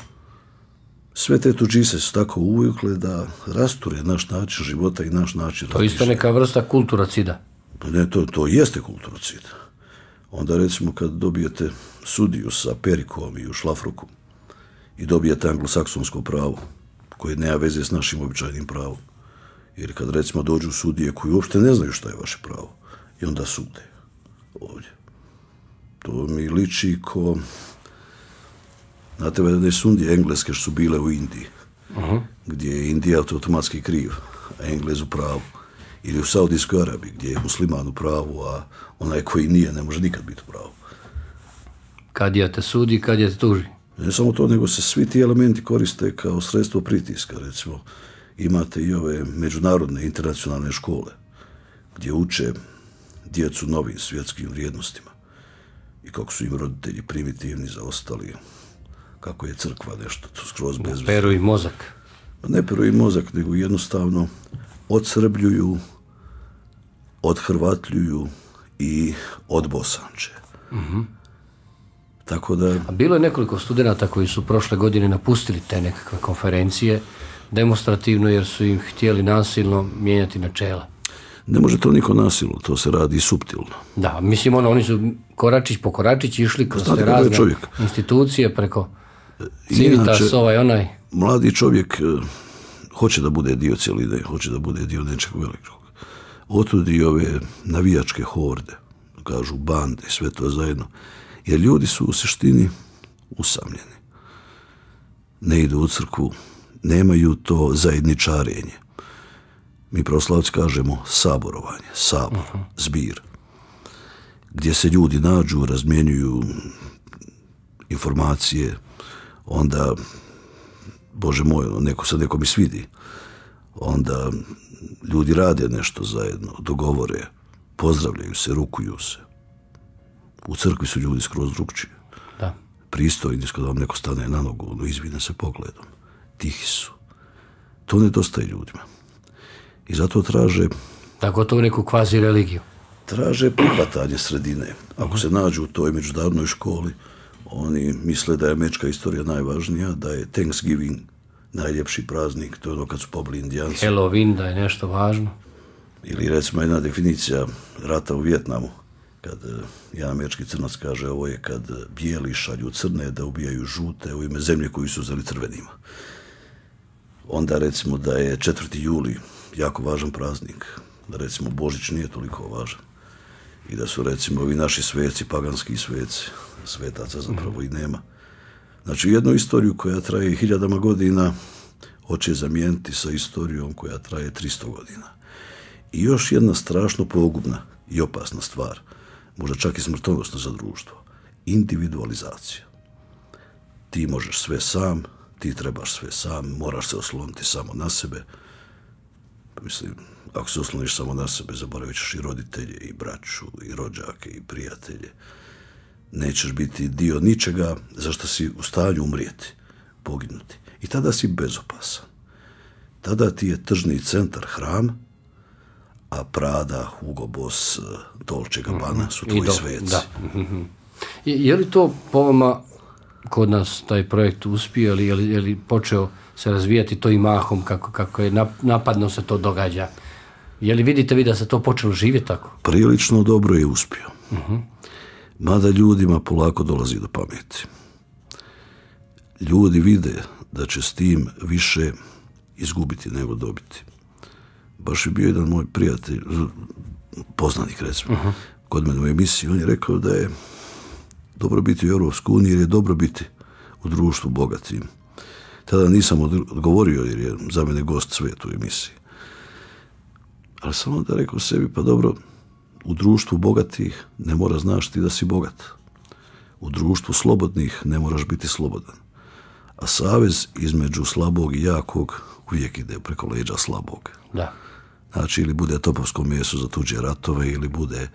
Sve te tuđise su tako uvukle da rasture naš način života i naš način razmišljanja. To je isto neka vrsta kulturocida. Ne, to, to jeste kulturocid. Onda, recimo, kad dobijete sudiju sa perikom i u šlafroku i dobijete anglosaksonsko pravo, koje nema veze s našim običajnim pravom. Jer kad, recimo, dođu sudije koji uopšte ne znaju šta je vaše pravo i onda sude ovdje. To mi liči ko... Znate, da su sudije engleske što su bile u Indiji, uh-huh. gdje je Indija automatski kriv, a Englez u pravu. Ili u Saudijskoj Arabiji, gdje je musliman u pravu, a onaj koji nije ne može nikad biti u pravu. Kad je te sudi, kad je te tuži. Ne samo to, nego se svi ti elementi koriste kao sredstvo pritiska. Recimo, imate i ove međunarodne internacionalne škole, gdje uče djecu novim svjetskim vrijednostima i kako su im roditelji primitivni, zaostali, kako je crkva nešto, to skroz bez... Peru i mozak. Ne peru i mozak, nego jednostavno odsrbljuju, odhrvatljuju i odbosanče. Mm-hmm. Tako da... A bilo je nekoliko studenata koji su prošle godine napustili te nekakve konferencije demonstrativno jer su im htjeli nasilno mijenjati načela. Ne može to niko nasilno, to se radi suptilno. Da, mislim, ono, oni su koračić po koračić išli kroz te razne institucije preko Civitas, inače, ovaj, onaj. Mladi čovjek hoće da bude dio cjeline, hoće da bude dio nečeg velikog. Otud i ove navijačke horde, kažu bande, sve to zajedno. Jer ljudi su u suštini usamljeni. Ne idu u crkvu, nemaju to zajedničarenje. Mi pravoslavci kažemo saborovanje, sabor, uh-huh. zbir. Gdje se ljudi nađu, razmjenjuju informacije, onda, Bože moj, neko se nekom i svidi. Onda ljudi rade nešto zajedno, dogovore, pozdravljaju se, rukuju se. U crkvi su ljudi skroz drugčiji. Da. Pristojni, kada vam neko stane na nogu, ono izvine se pogledom. Tihi su. To nedostaje ljudima. I zato traže... Tako to u neku kvazi religiju. Traže prihvatanje sredine. Ako se nađu u toj međunarodnoj školi, oni misle da je američka istorija najvažnija, da je Thanksgiving najljepši praznik, to je ono kad su pobili Indijanci. Halloween, da je nešto važno. Ili recimo jedna definicija rata u Vijetnamu, kad jedan američki crnac kaže ovo je kad bijeli šalju crne da ubijaju žute u ime zemlje koju su uzeli crvenima. Onda recimo da je četvrti juli jako važan praznik, da recimo Božić nije toliko važan i da su recimo ovi naši sveci, paganski sveci, svetaca zapravo i nema. Znači jednu istoriju koja traje hiljadama godina hoće zamijeniti sa istorijom koja traje tristo godina. I još jedna strašno pogubna i opasna stvar, možda čak i smrtonosna za društvo, individualizacija. Ti možeš sve sam, ti trebaš sve sam, moraš se osloniti samo na sebe. Mislim, ako se osloniš samo na sebe, zaboravit ćeš i roditelje, i braću, i rođake, i prijatelje. Nećeš biti dio ničega za što si u stanju umrijeti, poginuti. I tada si bezopasan. Tada ti je tržni centar hram, a Prada, Hugo Boss, Dolce Gabbana su tvoji sveci. Da. Je, je li to po vama kod nas taj projekt uspio, ili je li, je li počeo se razvijati to i mahom, kako, kako je napadno se to događa? Je li vidite vi da se to počelo živjeti tako? Prilično dobro je uspio. Uh-huh. Mada ljudima polako dolazi do pameti. ljudi vide da će s tim više izgubiti nego dobiti. Baš je bio jedan moj prijatelj, poznanik recimo, uh-huh. kod mene u emisiji, on je rekao da je dobro biti u Europskoj uniji jer je dobro biti u društvu bogatim. Tada nisam odgovorio jer je za mene gost svet u emisiji. Ali sam onda rekao sebi, pa dobro, u društvu bogatih ne mora znaš ti da si bogat. U društvu slobodnih ne moraš biti slobodan. A savez između slabog i jakog uvijek ide preko leđa slabog. Da. Znači, ili bude topovsko meso za tuđe ratove, ili bude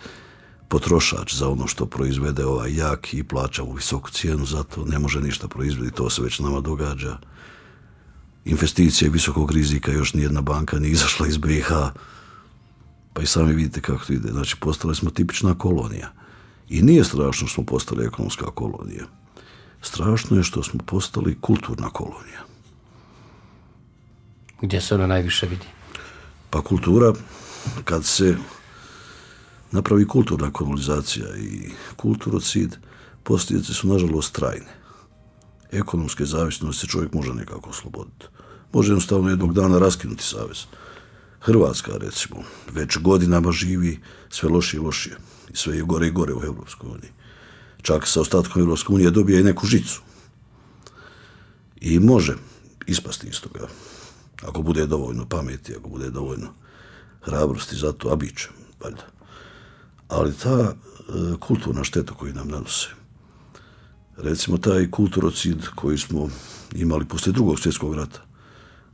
potrošač za ono što proizvede ovaj jak i plaća u visoku cijenu, zato ne može ništa proizvesti, to se već nama događa. Investicije visokog rizika, još nijedna banka nije izašla iz B i H, pa i sami vidite kako to ide. Znači, postali smo tipična kolonija. I nije strašno što smo postali ekonomska kolonija. Strašno je što smo postali kulturna kolonija. Gdje se ona najviše vidi? Pa kultura, kad se napravi kulturna kolonizacija i kulturocid, posljedice su nažalost trajne. Ekonomske zavisnosti se čovjek može nekako osloboditi. Može jednostavno jednog dana raskinuti savez. Hrvatska, recimo, već godinama živi sve lošije i lošije. I sve je gore i gore u Europskoj uniji. Čak sa ostatkom Europske unije dobije i neku žicu. I može ispasti iz toga. Ako bude dovoljno pameti, ako bude dovoljno hrabrosti za to, a bit će, valjda. Ali ta e, kulturna šteta koju nam nanose, recimo taj kulturocid koji smo imali poslije drugog svjetskog rata,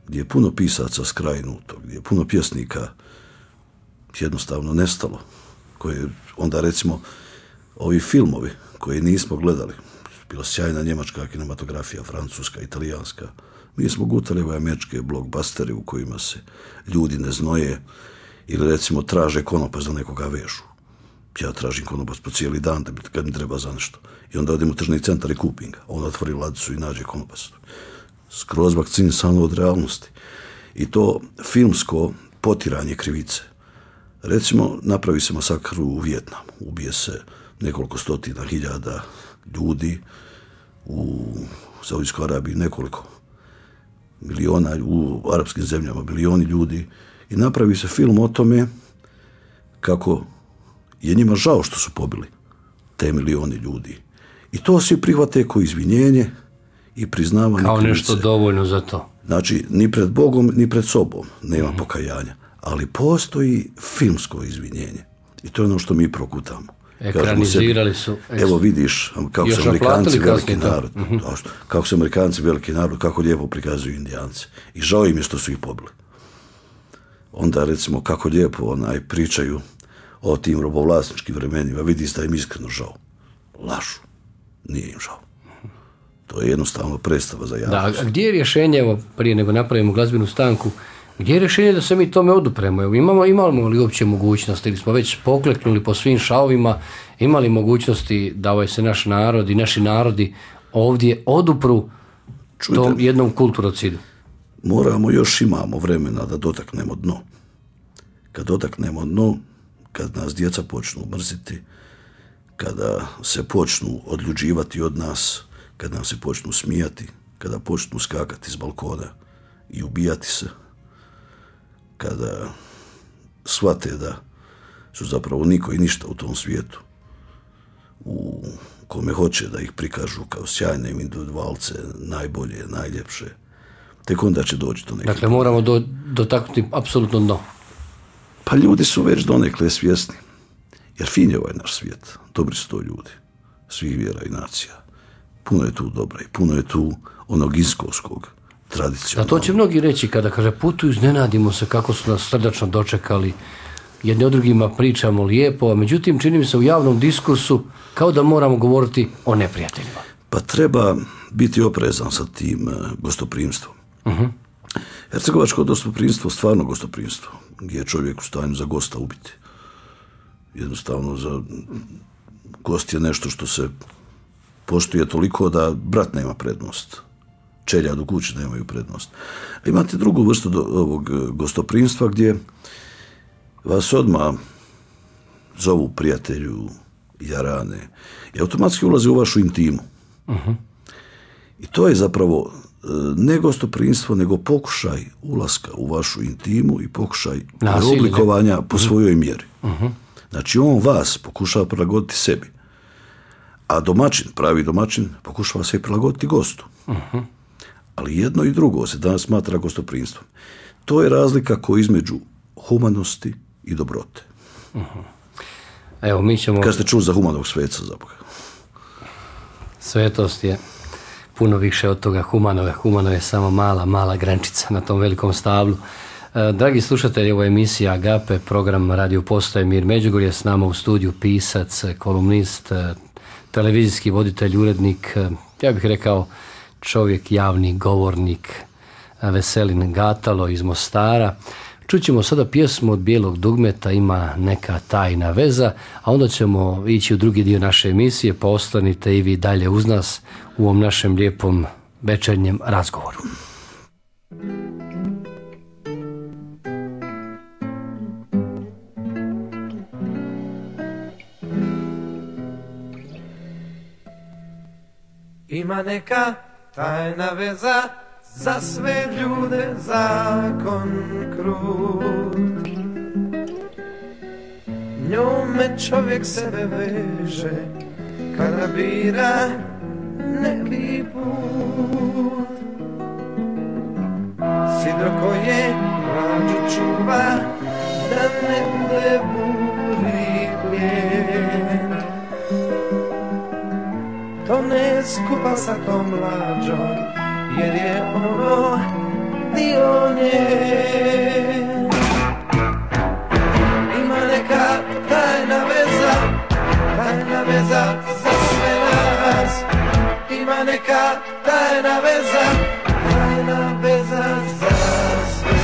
gdje je puno pisaca skrajnuto, gdje je puno pjesnika jednostavno nestalo, koje onda recimo ovi filmovi koje nismo gledali, bila sjajna njemačka kinematografija, francuska, italijanska, mi smo gutali ove američke blockbustere u kojima se ljudi ne znoje ili recimo traže konopac da nekoga vežu. Ja tražim konopac po cijeli dan da mi, kad mi treba za nešto. I onda odem u tržni centar i kupim ga. On otvori ladicu i nađe konopac. Skroz vakcinisano od realnosti. I to filmsko potiranje krivice. Recimo, napravi se masakr u Vijetnamu. Ubije se nekoliko stotina hiljada ljudi, u Saudijskoj Arabiji nekoliko miliona, u arapskim zemljama milioni ljudi, i napravi se film o tome kako je njima žao što su pobili te milioni ljudi. I to svi prihvate kao izvinjenje i priznavanje kao krivice. Nešto dovoljno za to. Znači, ni pred Bogom, ni pred sobom nema mm-hmm. pokajanja. Ali postoji filmsko izvinjenje. I to je ono što mi prokutamo. Ekranizirali su. Evo vidiš kako su Amerikanci veliki narod. Mm-hmm. Kako su Amerikanci veliki narod, kako lijepo prikazuju Indijance. I žao im je što su ih pobili. Onda recimo kako lijepo onaj pričaju o tim robovlasničkim vremenima. Vidi se da im iskreno žao. Lažu. Nije im žao. To je jednostavno predstava za javnost. Da, a gdje je rješenje, evo, prije nego napravimo glazbenu stanku, gdje je rješenje da se mi tome odupremo? Evo, imamo, imamo li uopće mogućnosti, ili smo već pokleknuli po svim šavovima, imali mogućnosti da ovaj se naš narod i naši narodi ovdje odupru Čujte, tom jednom kulturocidu? Moramo, još imamo vremena da dotaknemo dno. Kad dotaknemo dno, kad nas djeca počnu mrziti, kada se počnu odljuđivati od nas, kad nam se počnu smijati, kada počnu skakati s balkona i ubijati se, kada shvate da su zapravo niko i ništa u tom svijetu, u kome hoće da ih prikažu kao sjajne individualce, najbolje, najljepše, tek onda će doći do neke. Dakle, moramo do, dotaknuti apsolutno dno. Pa ljudi su već donekle svjesni, jer fin je ovaj naš svijet, dobri su to ljudi, svih vjera i nacija. Puno je tu dobra i puno je tu onog iskovskog, tradicionalnog. A to će mnogi reći kada kaže putuju, iznenadimo se kako su nas srdačno dočekali, jedni o drugima pričamo lijepo, a međutim čini mi se u javnom diskursu kao da moramo govoriti o neprijateljima. Pa treba biti oprezan sa tim gostoprimstvom. Uh-huh. Hercegovačko gostoprimstvo, stvarno gostoprimstvo, gdje je čovjek u stanju za gosta ubiti. Jednostavno, za gost je nešto što se poštuje toliko da brat nema prednost. Čeljad u kući nemaju prednost. A imate drugu vrstu do, ovog gostoprimstva gdje vas odmah zovu prijatelju, jarane, i automatski ulaze u vašu intimu. Uh-huh. I to je zapravo ne gostoprimstvo, nego pokušaj ulaska u vašu intimu i pokušaj preoblikovanja po svojoj mjeri. Uh-huh. Znači, on vas pokušava prilagoditi sebi, a domaćin, pravi domaćin, pokušava se prilagoditi gostu. Uh-huh. Ali jedno i drugo se danas smatra gostoprimstvom. To je razlika koja između humanosti i dobrote. Uh-huh. Evo, mi ćemo... Kad ste čuli za humanog sveca, zaboga? Svetost je puno više od toga humanoga. Humano je samo mala, mala grančica na tom velikom stablu. E, dragi slušatelji, ovo je emisija Agape, program Radio Postaje Mir Međugorje, s nama u studiju pisac, kolumnist, televizijski voditelj, urednik, ja bih rekao čovjek, javni govornik, Veselin Gatalo iz Mostara. Čućemo sada pjesmu od Bijelog dugmeta, Ima neka tajna veza, a onda ćemo ići u drugi dio naše emisije, pa ostanite i vi dalje uz nas u ovom našem lijepom večernjem razgovoru. Ima neka tajna veza, za sve ljude zakon krut. Njome čovjek sebe veže, kada bira neki put. Sidro koje mlađu čuva, da ne bude buri plijen. To ne skupa sa tom mlađom, jer je ono dio nje. Ima neka tajna veza, tajna veza za sve nas. Ima neka tajna veza, tajna veza za sve nas.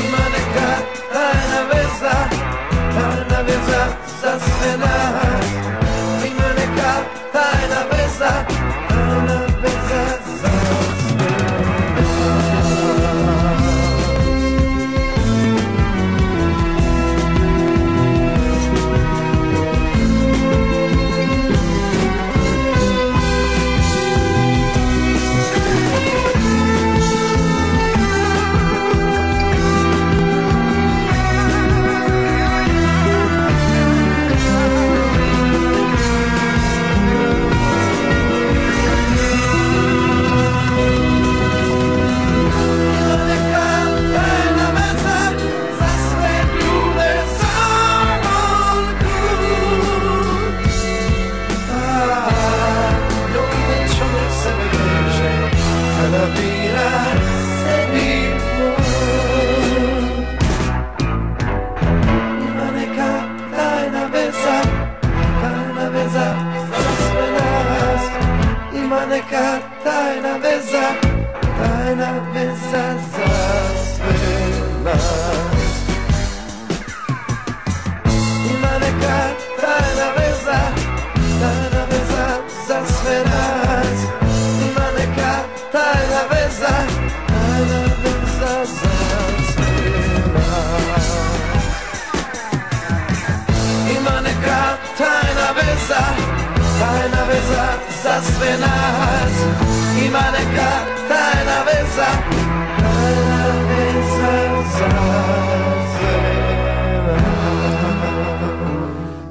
Ima neka tajna veza, tajna veza za sve nas. Ima neka tajna veza, tajna veza za sve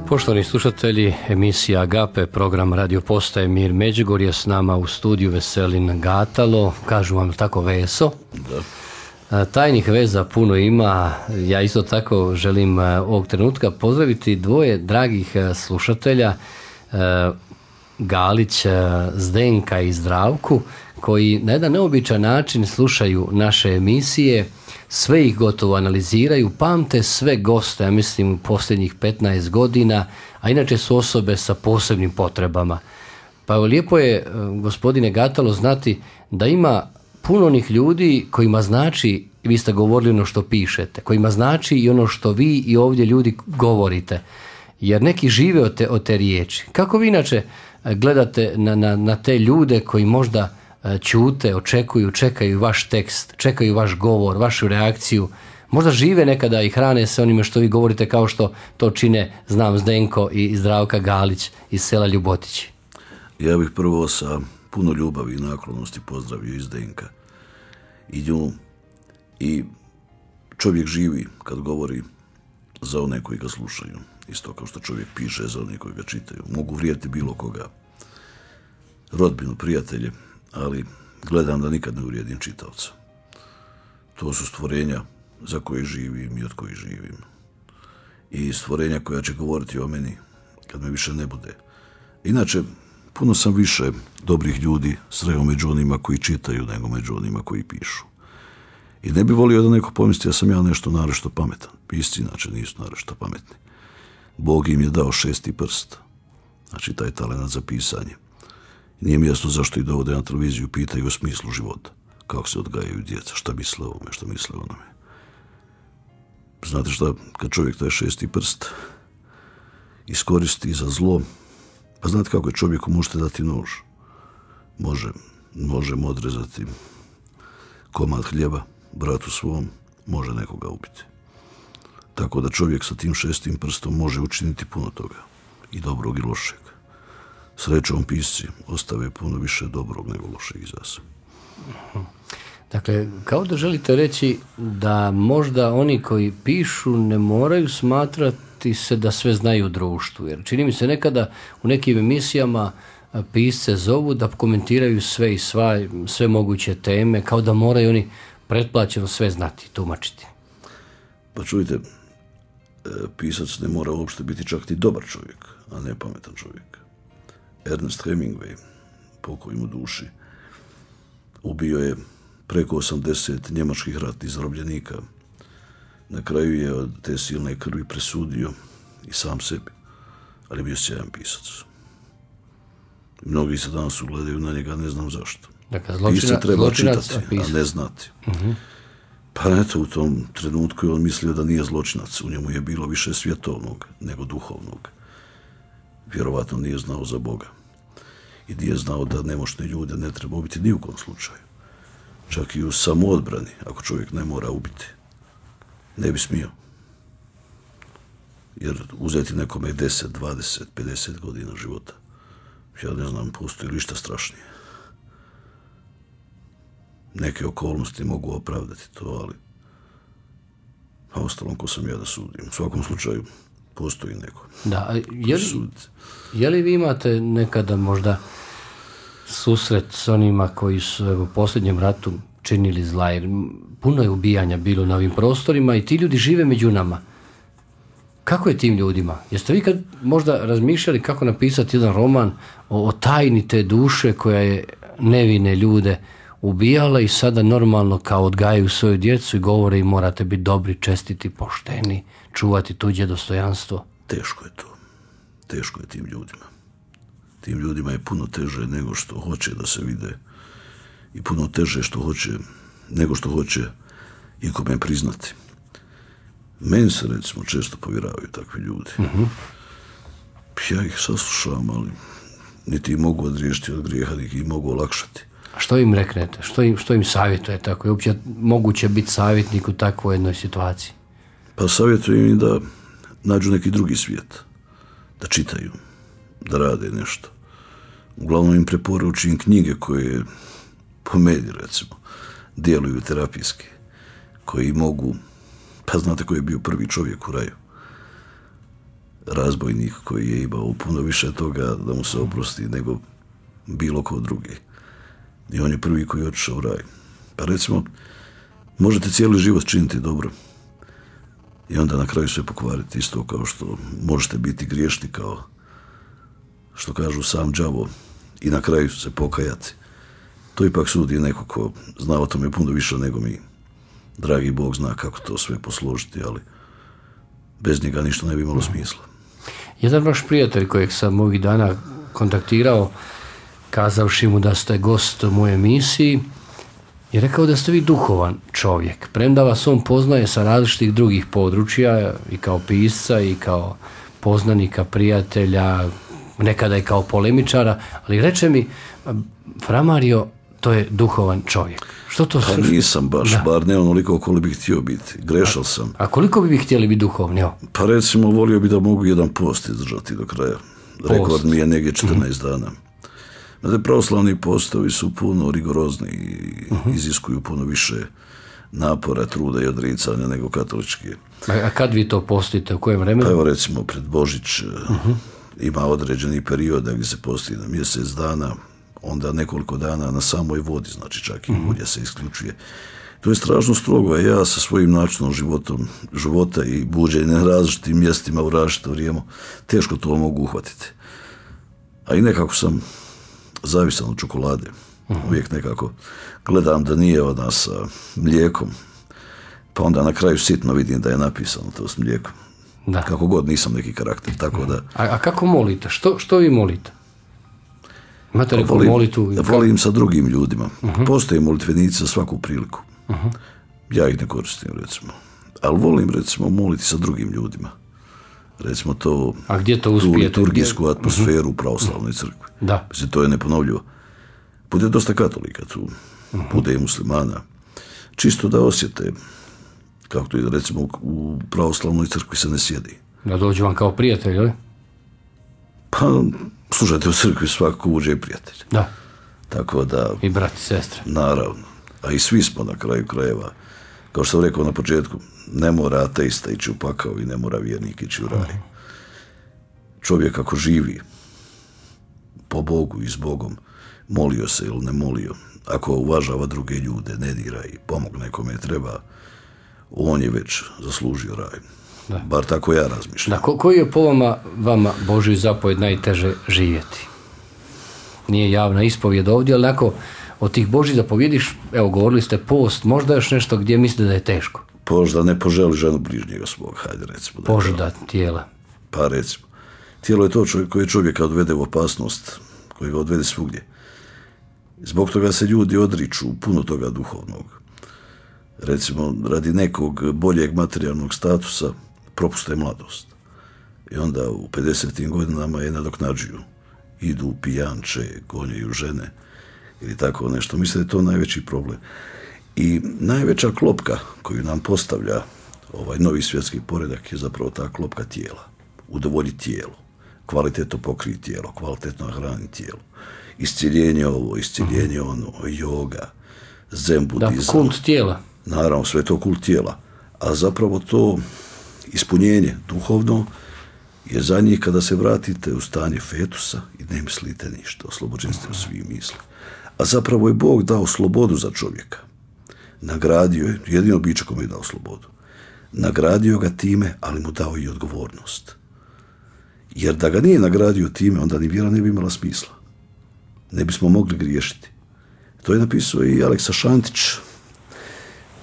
Poštovani slušatelji, emisija Agape, program Radio Postaje Mir Međugorje, s nama u studiju Veselin Gatalo. Kažu vam tako Veso? Da. Tajnih veza puno ima. Ja isto tako želim ovog trenutka pozdraviti dvoje dragih slušatelja, Galić, Zdenka i Zdravku, koji na jedan neobičan način slušaju naše emisije, sve ih gotovo analiziraju, pamte sve goste, ja mislim u posljednjih petnaest godina, a inače su osobe sa posebnim potrebama. Pa lijepo je, gospodine Gatalo, znati da ima puno onih ljudi kojima znači, vi ste govorili ono što pišete, kojima znači i ono što vi i ovdje ljudi govorite, jer neki žive od te, od te riječi. Kako vi inače gledate na, na, na te ljude koji možda ćute, očekuju, čekaju vaš tekst, čekaju vaš govor, vašu reakciju, Možda žive nekada i hrane se onime što vi govorite, kao što to čine, znam, Zdenko i Zdravka Galić iz sela Ljubotići. Ja bih prvo sa puno ljubavi i naklonosti pozdravio i Zdenka i nju. I čovjek živi kad govori za one koji ga slušaju. Isto kao što čovjek piše za one koji ga čitaju. Mogu vrijediti bilo koga. Rodbinu, prijatelje, ali gledam da nikad ne uvrijedim čitaoca. To su stvorenja za koje živim i od kojih živim. I stvorenja koja će govoriti o meni kad me više ne bude. Inače, puno sam više dobrih ljudi sreo među onima koji čitaju nego među onima koji pišu. I ne bi volio da neko pomisli da sam ja nešto naročito pametan. Pisci inače nisu naročito pametni. Bog im je dao šesti prst. Znači taj talent za pisanje. Nije mi jasno zašto i dovode na televiziju pitaju o smislu života. Kako se odgajaju djeca, šta misle o ovome, šta misle o onome. Znate šta, kad čovjek taj šesti prst iskoristi za zlo, pa znate kako je čovjeku, možete dati nož. Može, možemo odrezati komad hljeba bratu svom, može nekoga ubiti. Tako da čovjek sa tim šestim prstom može učiniti puno toga. I dobrog i lošeg. Srećom pisci ostave puno više dobrog nego lošeg iza sebe. Dakle, kao da želite reći da možda oni koji pišu ne moraju smatrati se da sve znaju u društvu. Jer čini mi se nekada u nekim emisijama pisce zovu da komentiraju sve i sva, sve moguće teme, kao da moraju oni pretplaćeno sve znati, tumačiti. Pa čujte, pisac ne mora uopšte biti čak ti dobar čovjek, a ne pametan čovjek. Ernest Hemingway, pokoj mu duši, ubio je preko osamdeset njemačkih ratnih zarobljenika. Na kraju je od te silne krvi presudio i sam sebi, ali je bio sjajan pisac. Mnogi se danas ugledaju na njega, ne znam zašto. Dakle, zločina, Pisat treba zločinac, čitati, a, a ne znati. Uh-huh. Pa eto, u tom trenutku je on mislio da nije zločinac. U njemu je bilo više svjetovnog nego duhovnog. Vjerovatno nije znao za Boga. I nije znao da nemoćne ljude ne treba ubiti ni u kom slučaju. Čak i u samoodbrani, ako čovjek ne mora ubiti. Ne bi smio. Jer uzeti nekome deset, dvadeset, pedeset godina života, ja ne znam, postoji li šta strašnije. Neke okolnosti mogu opravdati to, ali a ostalom ko sam ja da sudim. U svakom slučaju postoji neko. Da, je li, je li vi imate nekada možda susret s onima koji su evo, u posljednjem ratu činili zla, jer puno je ubijanja bilo na ovim prostorima i ti ljudi žive među nama. Kako je tim ljudima? Jeste vi kad možda razmišljali kako napisati jedan roman o, o tajni te duše koja je nevine ljude ubijala i sada normalno kao odgajaju svoju djecu i govore im morate biti dobri, čestiti, pošteni, čuvati tuđe dostojanstvo? Teško je to. Teško je tim ljudima. Tim ljudima je puno teže nego što hoće da se vide i puno teže što hoće, nego što hoće ikome priznati. Meni se recimo često povjeravaju takvi ljudi. Uh-huh. Ja ih saslušavam, ali niti mogu odriješiti od grijeha, niti ih mogu olakšati. A što im reknete? Što im, što im savjetujete? Ako je uopće moguće biti savjetnik u takvoj jednoj situaciji? Pa savjetujem im da nađu neki drugi svijet. Da čitaju, da rade nešto. Uglavnom im preporučujem knjige koje, po meni recimo, djeluju terapijski. Koji mogu, pa znate koji je bio prvi čovjek u raju? Razbojnik koji je imao puno više toga da mu se oprosti nego bilo ko drugi. I on je prvi koji je otišao u raj. Pa recimo, možete cijeli život činiti dobro i onda na kraju sve pokvariti, isto kao što možete biti griješni, kao što kažu sam đavo, i na kraju se pokajati. To ipak sudi neko ko zna o tome puno više nego mi. Dragi Bog zna kako to sve posložiti, ali bez njega ništa ne bi imalo smisla. Jedan vaš prijatelj kojeg sam ovih dana kontaktirao, kazavši mu da ste gost u mojoj emisiji, je rekao da ste vi duhovan čovjek. Premda vas on poznaje sa različitih drugih područja, i kao pisca, i kao poznanika, prijatelja, nekada i kao polemičara, ali reče mi, Fra Mario, to je duhovan čovjek. Što to Pa nisam baš, da. bar ne onoliko koliko bih htio biti. Grešao sam. A, a koliko bi vi htjeli biti duhovni? Pa recimo, volio bi da mogu jedan post izdržati do kraja. Post. Rekord mi je negdje četrnaest mm-hmm. dana. Znate, pravoslavni postovi su puno rigorozni i uh-huh. iziskuju puno više napora, truda i odricanja nego katolički. A kad vi to postite, u kojem vremenu? Pa evo recimo pred Božić uh-huh. ima određeni period gdje se posti na mjesec dana, onda nekoliko dana na samoj vodi, znači čak i uh-huh. ulje se isključuje. To je strašno strogo, a ja sa svojim načinom životom, života i buđenja na različitim mjestima u različito vrijeme teško to mogu uhvatiti. A i nekako sam zavisan od čokolade. Uh-huh. Uvijek nekako gledam da nije ona sa mlijekom, pa onda na kraju sitno vidim da je napisano to s mlijekom. Da. Kako god nisam neki karakter, tako da... A, a kako molite? Što, što vi molite? Imate neku volim, molitu? Volim sa drugim ljudima. Uh-huh. Postoje molitvenici za svaku priliku. Uh-huh. Ja ih ne koristim, recimo. Ali volim, recimo, moliti sa drugim ljudima. Recimo to... A gdje to uspijete? Tu liturgijsku atmosferu u pravoslavnoj crkvi. Da. Mislim, to je neponovljivo. Bude dosta katolika tu. Uh-huh. Bude i muslimana. Čisto da osjete, kako to je, recimo, u pravoslavnoj crkvi se ne sjedi. Da dođu vam kao prijatelj, ali? Pa, slušajte, u crkvi svako uđe i prijatelj. Da. Tako da... I brat i sestre. Naravno. A i svi smo na kraju krajeva. Kao što sam rekao na početku, ne mora ateista ići u pakao i ne mora vjernik ići u raj. Uh-huh. Čovjek ako živi po Bogu i s Bogom, molio se ili ne molio, ako uvažava druge ljude, ne dira i pomogne kome treba, on je već zaslužio raj. Da. Bar tako ja razmišljam. Da, ko, koji je po vama, vama Božji zapovjed najteže živjeti? Nije javna ispovjed ovdje, ali ako od tih Božjih zapovjediš, evo govorili ste post, možda još nešto gdje mislite da je teško? Post da ne poželi ženu bližnjega svog, hajde recimo. Požuda tijela. Pa recimo. Tijelo je to čovjek, koje čovjeka odvede u opasnost, koji ga odvede svugdje. Zbog toga se ljudi odriču puno toga duhovnog. Recimo, radi nekog boljeg materijalnog statusa propuste mladost. I onda u pedesetim godinama je nadoknađuju. Idu u pijanče, gonjaju žene ili tako nešto. Mislim da je to najveći problem. I najveća klopka koju nam postavlja ovaj novi svjetski poredak je zapravo ta klopka tijela. Udovolji tijelo. Kvalitetno pokriti tijelo, kvalitetno hrani tijelo. Isciljenje ovo, isciljenje ono, joga, zen budizam. Da, kult tijela. Naravno, sve to kult tijela. A zapravo to ispunjenje duhovno je za njih kada se vratite u stanje fetusa i ne mislite ništa, oslobođeni ste u svih misli. A zapravo je Bog dao slobodu za čovjeka. Nagradio je, jedino biće kome je dao slobodu. Nagradio ga time, ali mu dao i odgovornost. Jer da ga nije nagradio time, onda ni vjera ne bi imala smisla. Ne bismo mogli griješiti. To je napisao i Aleksa Šantić.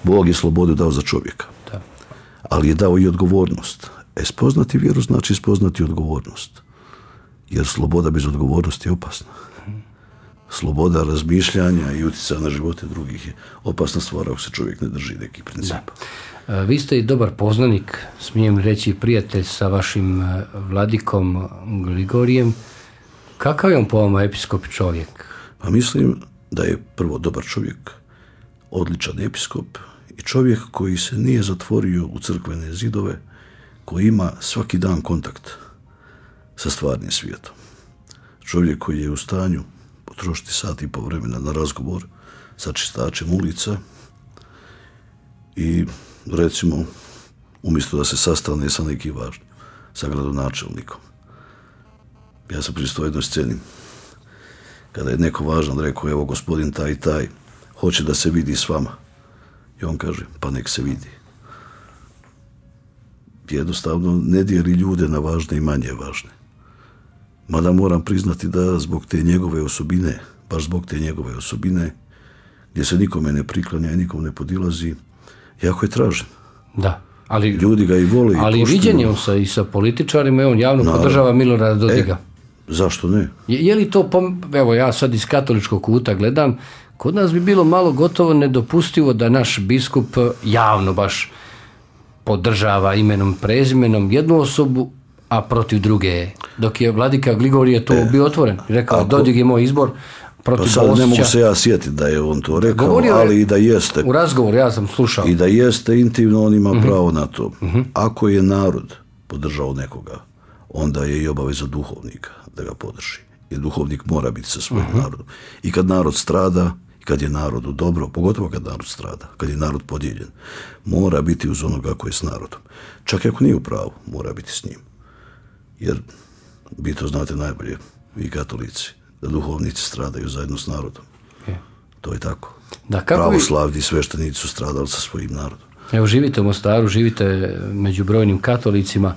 Bog je slobodu dao za čovjeka. Da. Ali je dao i odgovornost. E, spoznati vjeru znači spoznati odgovornost. Jer sloboda bez odgovornosti je opasna. Sloboda razmišljanja i utjecaja na živote drugih je opasna stvar ako se čovjek ne drži nekih principa. Da. Vi ste i dobar poznanik, smijem reći prijatelj sa vašim vladikom Grigorijem. Kakav je on po vama episkop čovjek? Pa mislim da je prvo dobar čovjek, odličan episkop i čovjek koji se nije zatvorio u crkvene zidove, koji ima svaki dan kontakt sa stvarnim svijetom. Čovjek koji je u stanju potrošiti sat i po vremena na razgovor sa čistačem ulica i recimo umjesto da se sastane sa nekim važnim, sa gradonačelnikom. Ja sam pristao jednoj sceni kada je neko važan rekao, evo gospodin taj i taj hoće da se vidi s vama. I on kaže, pa nek se vidi. Jednostavno ne dijeli ljude na važne i manje važne. Mada moram priznati da zbog te njegove osobine, baš zbog te njegove osobine, gdje se nikome ne priklanja i nikom ne podilazi, jako je tražen. Da. Ali, ljudi ga i vole i ali viđen je on sa, i sa političarima i on javno no, podržava Milorada Dodiga. E, zašto ne? Je, je li to, evo ja sad iz katoličkog kuta gledam, kod nas bi bilo malo gotovo nedopustivo da naš biskup javno baš podržava imenom, prezimenom jednu osobu, a protiv druge. Dok je vladika Grigorije to e, bio otvoren. Rekao, ako, Dodig je moj izbor, protiv Pa sad Bosća. ne mogu se ja sjetiti da je on to rekao, Govorio je ali i da jeste. U razgovoru, ja sam slušao. I da jeste intimno, on ima uh-huh. pravo na to. Uh-huh. Ako je narod podržao nekoga, onda je i obaveza duhovnika da ga podrži. Jer duhovnik mora biti sa svojim uh-huh. narodom. I kad narod strada, i kad je narodu dobro, pogotovo kad narod strada, kad je narod podijeljen, mora biti uz onoga koji je s narodom. Čak i ako nije u pravu, mora biti s njim. Jer vi to znate najbolje, vi katolici, da duhovnici stradaju zajedno s narodom. Je. To je tako. Da, kako pravoslavni vi... sveštenici su stradali sa svojim narodom. Evo, živite u Mostaru, živite među brojnim katolicima.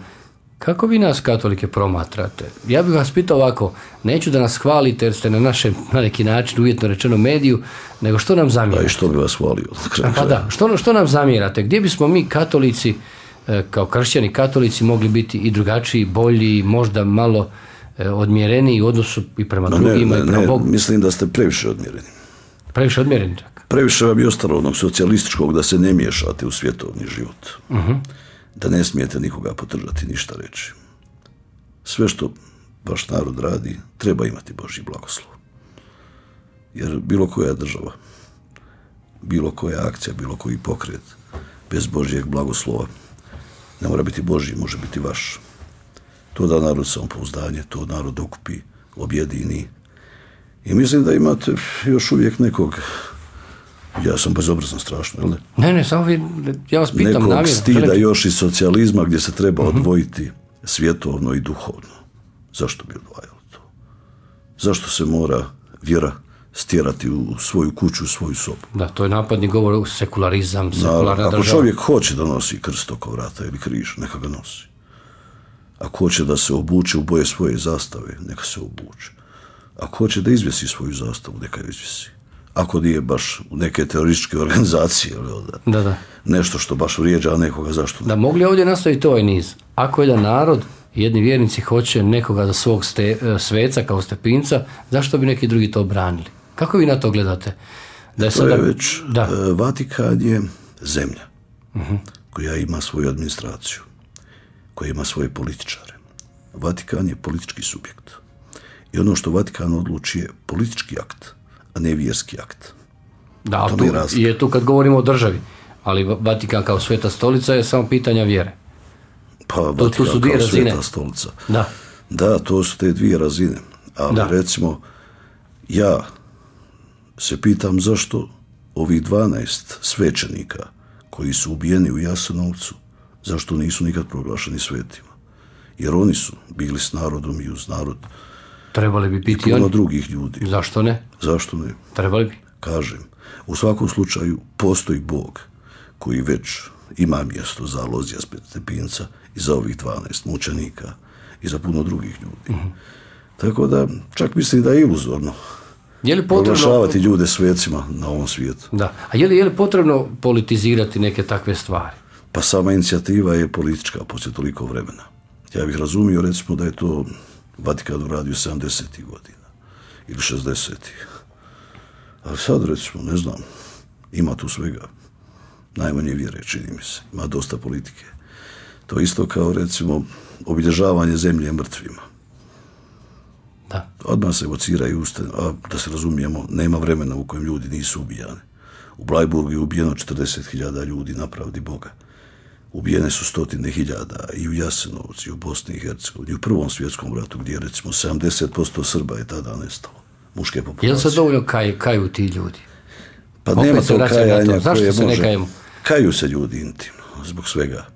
Kako vi nas katolike promatrate? Ja bih vas pitao ovako, neću da nas hvalite jer ste na našem, na neki način, uvjetno rečeno, mediju, nego što nam zamjerate? Pa i što bi vas hvalio? Pa da, što, što nam zamjerate? Gdje bismo mi katolici, kao kršćani katolici, mogli biti i drugačiji, bolji, možda malo odmjereniji u odnosu i prema no, drugima ne, ne, i prema ne, Bogu? Mislim da ste previše odmjereni. Previše odmjereni, čak? Previše vam je ostalo onog socijalističkog da se ne miješate u svjetovni život. Uh-huh. Da ne smijete nikoga podržati, ništa reći. Sve što vaš narod radi, treba imati Božji blagoslov. Jer bilo koja država, bilo koja akcija, bilo koji pokret, bez Božjeg blagoslova, ne mora biti Božji, može biti vaš. To da narod samopouzdanje, to narod okupi, objedini. I mislim da imate još uvijek nekog, ja sam bezobrazan strašno, jel ne? Ne, ne, samo vi, ja vas pitam nekog namjerno. stida želite... još iz socijalizma gdje se treba uh-huh. odvojiti svjetovno i duhovno. Zašto bi odvajalo to? Zašto se mora vjera stjerati u svoju kuću, u svoju sobu? Da, to je napadni govor, sekularizam, sekularna država. Ako čovjek hoće da nosi krst oko vrata ili križ, neka ga nosi. Ako hoće da se obuče u boje svoje zastave, neka se obuče. Ako hoće da izvjesi svoju zastavu, neka ju izvjesi. Ako nije baš u neke terorističke organizacije, da, da, da. nešto što baš vrijeđa nekoga, zašto ne? Da, mogli ovdje nastaviti ovaj niz. Ako jedan narod, jedni vjernici hoće nekoga za svog ste, sveca kao stepinca, zašto bi neki drugi to branili? Kako vi na to gledate? Da je to sada... je već, da. Vatikan je zemlja uh-huh. koja ima svoju administraciju, koja ima svoje političare. Vatikan je politički subjekt. I ono što Vatikan odluči je politički akt, a ne vjerski akt. Da, tu je, je tu kad govorimo o državi, ali Vatikan kao sveta stolica je samo pitanja vjere. Pa Vatikan tu su dvije kao razine. Sveta stolica. Da. Da, to su te dvije razine. Ali da. Recimo, ja se pitam zašto ovih dvanaest svećenika koji su ubijeni u Jasenovcu, zašto nisu nikad proglašeni svetima? Jer oni su bili s narodom i uz narod. Trebali bi biti i puno oni. Drugih ljudi. Zašto ne? Zašto ne? Trebali bi. Kažem, u svakom slučaju postoji Bog koji već ima mjesto za Alojzija Stepinca i za ovih dvanaest mučenika i za puno drugih ljudi. Uh-huh. Tako da, čak mislim da je iluzorno je li potrebno proglašavati ljude svecima na ovom svijetu. Da. A je li, je li potrebno politizirati neke takve stvari? Pa sama inicijativa je politička poslije toliko vremena. Ja bih razumio, recimo, da je to Vatikan uradio sedamdesetih godina ili šezdesetih. Ali sad, recimo, ne znam, ima tu svega. Najmanje vjere, čini mi se. Ima dosta politike. To isto kao, recimo, obilježavanje zemlje mrtvima. Da. Odmah se evociraju usta, a da se razumijemo, nema vremena u kojem ljudi nisu ubijani. U Blajburgu je ubijeno četrdeset hiljada ljudi na pravdi Boga. Ubijene su stotine hiljada i u Jasenovcu, i u Bosni i Hercegovini, i u Prvom svjetskom ratu, gdje recimo sedamdeset posto Srba je tada nestalo. Muške populacije. Je li se dovoljno kaj, kaju ti ljudi? Pa opet nema to kajanja to. koje se može. Ne kaju se ljudi intimno, zbog svega.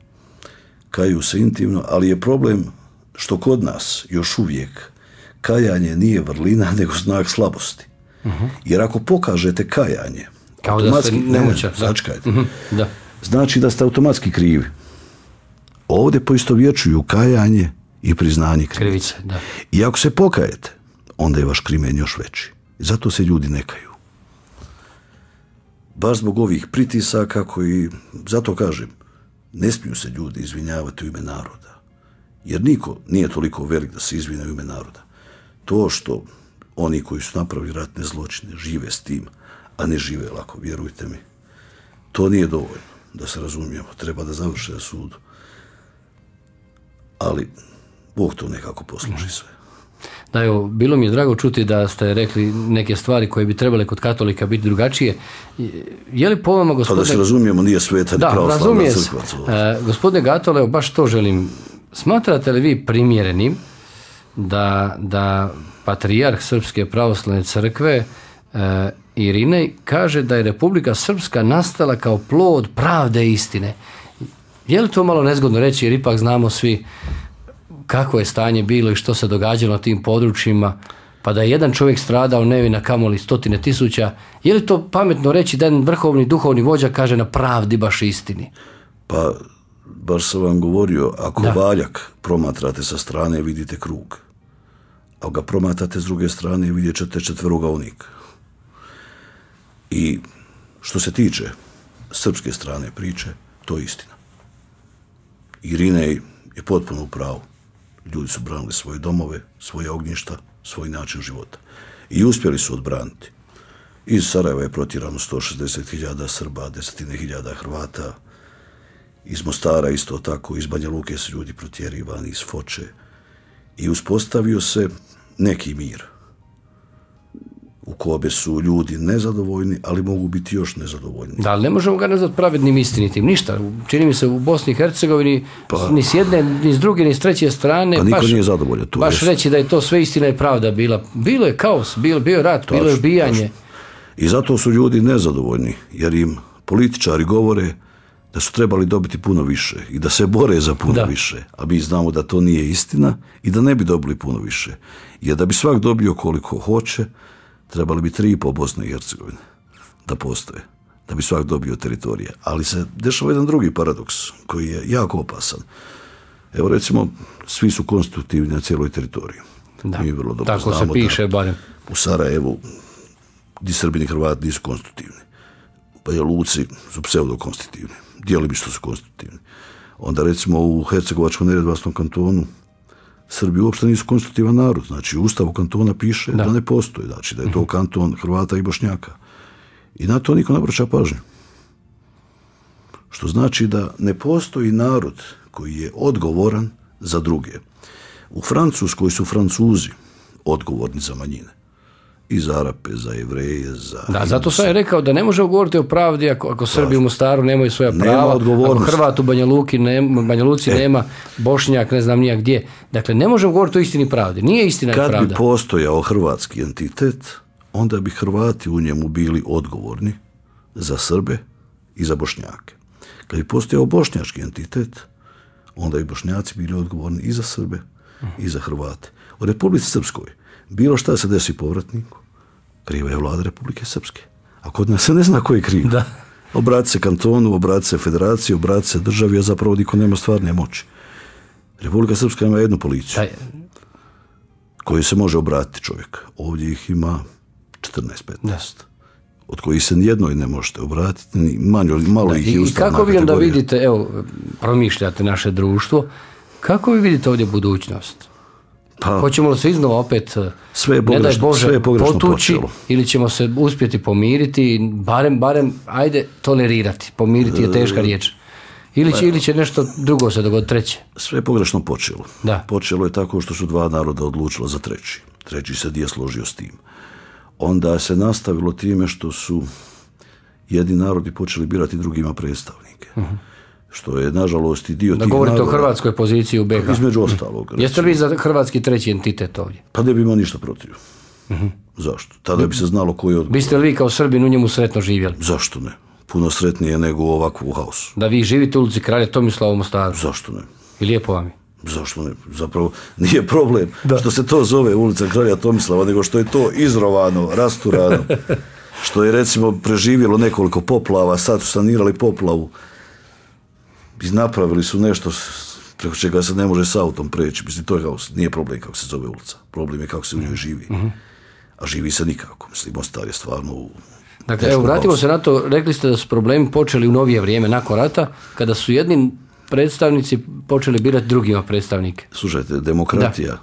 Kaju se intimno, ali je problem što kod nas još uvijek kajanje nije vrlina, nego znak slabosti. Uh-huh. Jer ako pokažete kajanje, kao da ste nemoćan, ne, začkajte, uh-huh. da. znači da ste automatski krivi. Ovdje poistovjećuju kajanje i priznanje krivice. krivice da. I ako se pokajete, onda je vaš krimen još veći. I zato se ljudi ne kaju. Baš zbog ovih pritisaka koji, zato kažem, ne smiju se ljudi izvinjavati u ime naroda. Jer niko nije toliko velik da se izvine u ime naroda. To što oni koji su napravili ratne zločine žive s tim, a ne žive lako, vjerujte mi, to nije dovoljno, da se razumijemo. Treba da završe na sudu. Ali Bog to nekako posluži sve. Da, evo, bilo mi je drago čuti da ste rekli neke stvari koje bi trebale kod katolika biti drugačije. Je li po vama, gospodine... Pa da se razumijemo, nije sveta, da, pravoslavna crkva. E, gospodine Gatole, evo, baš to želim. Smatrate li vi primjerenim da, da patrijarh Srpske pravoslavne crkve e, Irinej kaže da je Republika Srpska nastala kao plod pravde i istine? Je li to malo nezgodno reći, jer ipak znamo svi kako je stanje bilo i što se događalo na tim područjima, pa da je jedan čovjek stradao nevina, kamoli stotine tisuća. Je li to pametno reći da jedan vrhovni duhovni vođa kaže na pravdi baš istini? Pa, baš sam vam govorio, ako da. Valjak promatrate sa strane, vidite krug. Ako ga promatrate s druge strane, vidjet ćete četverogaunik. I što se tiče srpske strane priče, to je istina. Irinej je potpuno u pravu. Ljudi su branili svoje domove, svoje ognjišta, svoj način života. I uspjeli su odbraniti. Iz Sarajeva je protjerano sto šezdeset hiljada Srba, desetine hiljada Hrvata. Iz Mostara isto tako, iz Banja Luke su ljudi protjerivani, iz Foče. I uspostavio se neki mir u kome su ljudi nezadovoljni, ali mogu biti još nezadovoljni. Da, ali ne možemo ga nazvati pravednim istinitim. Ništa. Čini mi se u Bosni i Hercegovini pa, ni s jedne, ni s druge, ni s treće strane. Pa niko baš, nije zadovoljan. Tu baš jest. reći da je to sve istina i pravda bila. Bilo je kaos, bilo, bio je rat, tačno, bilo je ubijanje. Tačno. I zato su ljudi nezadovoljni, jer im političari govore da su trebali dobiti puno više i da se bore za puno da. više. A mi znamo da to nije istina i da ne bi dobili puno više. Jer da bi svak dobio koliko hoće, trebali bi tri i po Bosne i Hercegovine da postoje, da bi svak dobio teritorije. Ali se dešava jedan drugi paradoks koji je jako opasan. Evo recimo, svi su konstitutivni na cijeloj teritoriji. Da. Mi vrlo dobro tako znamo se piše, barem. U Sarajevu, gdje Srbini i Hrvati nisu konstitutivni. Pa je Luci su pseudokonstitutivni. Djelimično su konstitutivni. Onda recimo u Hercegovačko-neretvanskom kantonu Srbi uopšte nisu konstitutivan narod. Znači, u Ustavu kantona piše da, da ne postoji. Znači, da je to kanton Hrvata i Bošnjaka. I na to niko ne obraća pažnju. Što znači da ne postoji narod koji je odgovoran za druge. U Francuskoj su Francuzi odgovorni za manjine. I za Arape, za Jevreje, za... Da, zato sam je rekao da ne možemo govoriti o pravdi ako, ako Srbi u Mostaru nemaju svoja prava, ako Hrvat u Banja Luki nema, Banja Luci e. nema, Bošnjak ne znam nijak gdje. Dakle, ne možemo govoriti o istini i pravdi. Nije istina i pravda. Kad bi postojao hrvatski entitet, onda bi Hrvati u njemu bili odgovorni za Srbe i za Bošnjake. Kad bi postojao bošnjački entitet, onda bi Bošnjaci bili odgovorni i za Srbe i za Hrvate. U Republici Srpskoj bilo šta se desi povratniku, kriva je vlada Republike Srpske. A kod nas se ne zna ko je kriv. Da. Obrati se kantonu, obrati se federaciji, obrati se državi, a zapravo niko nema stvarne moći. Republika Srpska ima jednu policiju Taj... koju se može obratiti čovjek. Ovdje ih ima četrnaest petnaest. Od kojih se nijednoj ne možete obratiti, ni manjo, malo da, ih je ustavna kategorija. I kako vi onda kategorija. vidite, evo, promišljate naše društvo, kako vi vidite ovdje budućnost? Pa, hoćemo li se iznova opet, sve je pogrešno, ne daj Bože, sve je potući počelo. Ili ćemo se uspjeti pomiriti, barem, barem, ajde, tolerirati. Pomiriti je teška riječ. Ili će, ili će nešto drugo se dogoditi, treće. Sve je pogrešno počelo. Da. Počelo je tako što su dva naroda odlučila za treći. Treći se nije složio s tim. Onda se nastavilo time što su jedni narodi počeli birati drugima predstavnike. Uh-huh. Što je, nažalost, i dio da tih govorite naroda, o hrvatskoj poziciji u B iH. Između ostalog. Uh-huh. Jeste li vi za hrvatski treći entitet ovdje? Pa ne bi imao ništa protiv. Uh-huh. Zašto? Tada bi se znalo ko je odgovoran. Biste li vi kao Srbin u njemu sretno živjeli? Zašto ne? Puno sretnije nego u ovakvu haosu. Da vi živite u ulici Kralja Tomislava u Mostaru? Zašto ne? I lijepo vam je? Zašto ne? Zapravo nije problem da. Što se to zove ulica Kralja Tomislava, nego što je to izrovano, rasturano. Što je recimo preživjelo nekoliko poplava, sad su sanirali poplavu i napravili su nešto preko čega se ne može s autom preći. Mislim, to je haos. Nije problem kako se zove ulica. Problem je kako se u njoj živi. Uh-huh. A živi se nikako. Mislim, Mostar je stvarno u... Dakle, evo, vratimo haosu. se na to. Rekli ste da su problemi počeli u novije vrijeme, nakon rata, kada su jedni predstavnici počeli birati drugima predstavnike. Slušajte, demokratija da.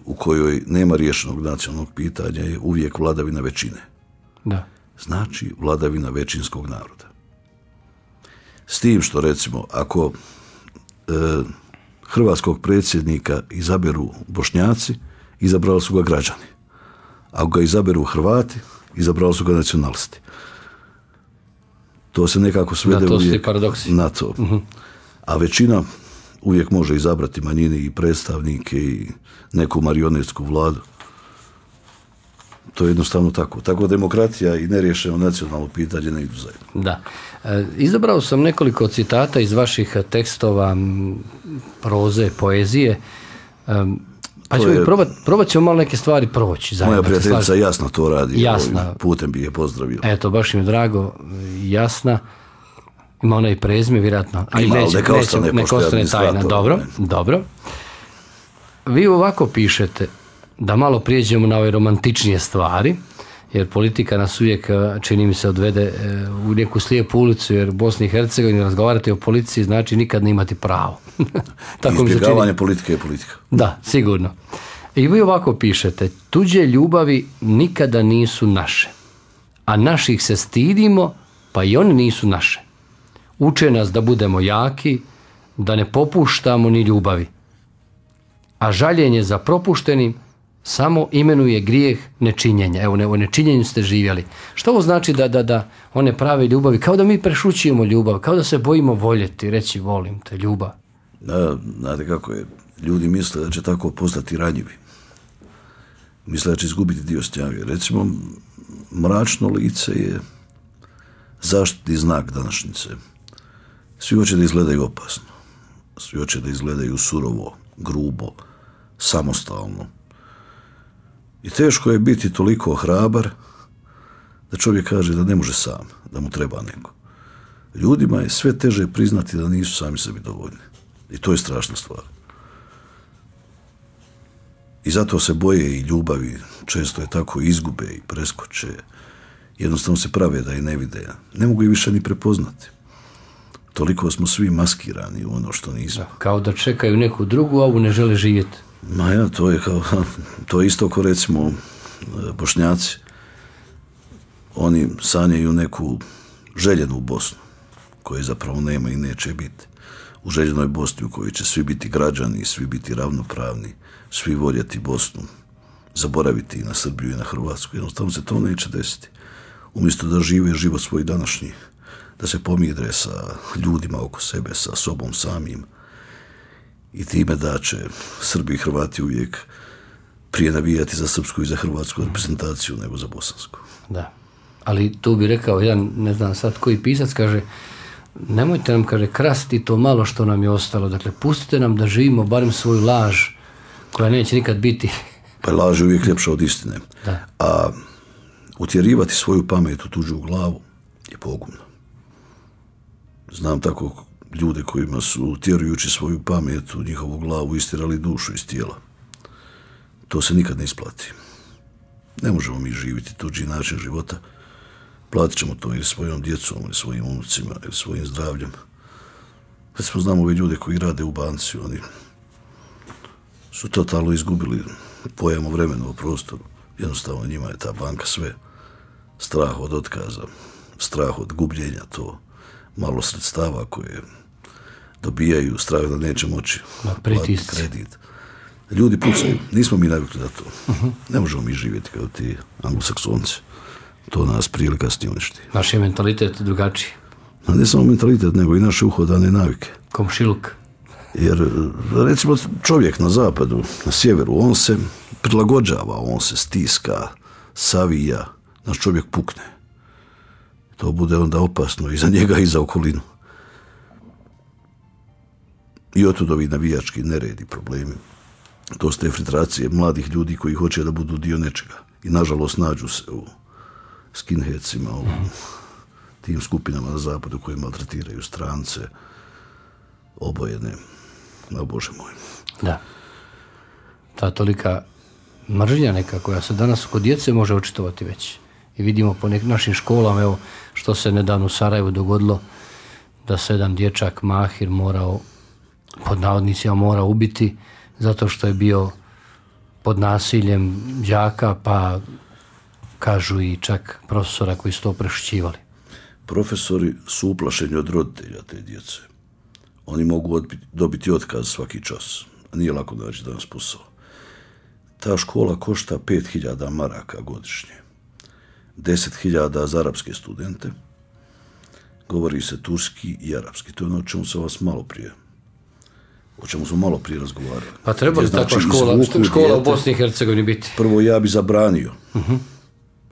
u kojoj nema riješenog nacionalnog pitanja je uvijek vladavina većine. Da. Znači vladavina većinskog naroda. S tim što, recimo, ako e, hrvatskog predsjednika izaberu Bošnjaci izabrali su ga građani. Ako ga izaberu Hrvati, izabrali su ga nacionalisti. To se nekako svede da, uvijek paradoksi. Na to. Uh-huh. A većina uvijek može izabrati manjine i predstavnike i neku marionetsku vladu. To je jednostavno tako. Tako demokratija i neriješeno nacionalno pitanje ne idu zajedno. Da. E, izabrao sam nekoliko citata iz vaših tekstova, proze, poezije. E, pa ćemo je, probat, probat ćemo malo neke stvari proći. Zajedno, moja prijateljica Jasna to radi. Jasna. Putem bi je pozdravio. Eto, baš mi je drago. Jasna. Ima ona i prezime, vjerojatno. Ali Ima, neće, neka ostane, neće, neka ostane tajna. Dobro, ne. dobro. Vi ovako pišete, da malo prijeđemo na ove romantičnije stvari, jer politika nas uvijek, čini mi se, odvede u neku slijepu ulicu, jer u Bosni i Hercegovini razgovarati o policiji znači nikad ne imati pravo. Tako izbjegavanje politike je politika. Da, sigurno. I vi ovako pišete, tuđe ljubavi nikada nisu naše, a naših se stidimo, pa i oni nisu naše. Uče nas da budemo jaki, da ne popuštamo ni ljubavi. A žaljenje za propuštenim samo imenuje grijeh nečinjenja. Evo, ne, o nečinjenju ste živjeli. Što ovo znači da, da, da one prave ljubavi, kao da mi prešućujemo ljubav, kao da se bojimo voljeti, reći volim te, ljubav. Da, znate kako je, ljudi misle da će tako postati ranjivi. Misle da će izgubiti dio snage. Recimo, mračno lice je zaštitni znak današnjice. Svi hoće da izgledaju opasno. Svi hoće da izgledaju surovo, grubo, samostalno. I teško je biti toliko hrabar da čovjek kaže da ne može sam, da mu treba neko. Ljudima je sve teže priznati da nisu sami sebi dovoljni. I to je strašna stvar. I zato se boje i ljubavi, često je tako izgube i preskoče. Jednostavno se prave da i ne vide. Ne mogu i više ni prepoznati. Toliko smo svi maskirani u ono što nismo. Kao da čekaju neku drugu, a ovu ne žele živjeti. Ma ja, to je kao, to je isto kao recimo Bošnjaci. Oni sanjaju neku željenu Bosnu, koje zapravo nema i neće biti. U željenoj Bosni u kojoj će svi biti građani, svi biti ravnopravni, svi voljeti Bosnu, zaboraviti i na Srbiju i na Hrvatsku. Jednostavno se to neće desiti. Umjesto da žive život svoj današnji, da se pomidre sa ljudima oko sebe, sa sobom samim, i time da će Srbi i Hrvati uvijek prije navijati za srpsku i za hrvatsku reprezentaciju nego za bosansku. Da, ali tu bi rekao jedan, ne znam sad koji pisac, kaže, nemojte nam, kaže, krasti to malo što nam je ostalo, dakle, pustite nam da živimo barem svoju laž koja neće nikad biti. Pa laž je uvijek ljepša od istine. Da. A utjerivati svoju pamet u tuđu glavu je pogubno. Znam tako ljude kojima su, utjerujući svoju pamet u njihovu glavu, istirali dušu iz tijela. To se nikad ne isplati. Ne možemo mi živjeti tuđi način života. Platit ćemo to ili svojom djecom, ili svojim unucima, ili svojim zdravljem. Recimo, znamo ove ljude koji rade u banci, oni su totalno izgubili pojam o vremenu, o prostoru. Jednostavno njima je ta banka sve. Strah od otkaza, strah od gubljenja, to malo sredstava koje dobijaju, strah da neće moći platiti kredit. Ljudi pucaju, nismo mi navikli na to. Uh-huh. Ne možemo mi živjeti kao ti anglosaksonci. To nas prije ili kasnije uništi. Naš je mentalitet drugačiji. A ne samo mentalitet, nego i naše uhodane navike. Komšiluk. Jer, recimo, čovjek na zapadu, na sjeveru, on se prilagođava, on se stiska, savija, naš čovjek pukne. To bude onda opasno i za njega i za okolinu. I otud ovi navijački neredi, problemi. To su te filtracije mladih ljudi koji hoće da budu dio nečega. I nažalost nađu se u skinheadsima, u tim skupinama na zapadu koji maltretiraju strance, obojene. No, Bože moj. Da. Ta tolika mržnja neka koja se danas kod djece može očitovati već. I vidimo po nek- našim školama, evo, što se nedavno u Sarajevu dogodilo, da se jedan dječak Mahir morao, pod navodnicima mora ubiti, zato što je bio pod nasiljem đaka, pa kažu i čak profesora koji su to prešućivali. Profesori su uplašeni od roditelja te djece. Oni mogu odbiti, dobiti otkaz svaki čas. A nije lako naći danas posao. ta škola košta pet hiljada maraka godišnje. deset hiljada za arapske studente. Govori se turski i arapski. To je ono o čemu se vas malo prije o čemu smo malo prije razgovarali. Pa treba li takva škola, škola u Bosni i Hercegovini biti? Prvo, ja bi zabranio uh-huh.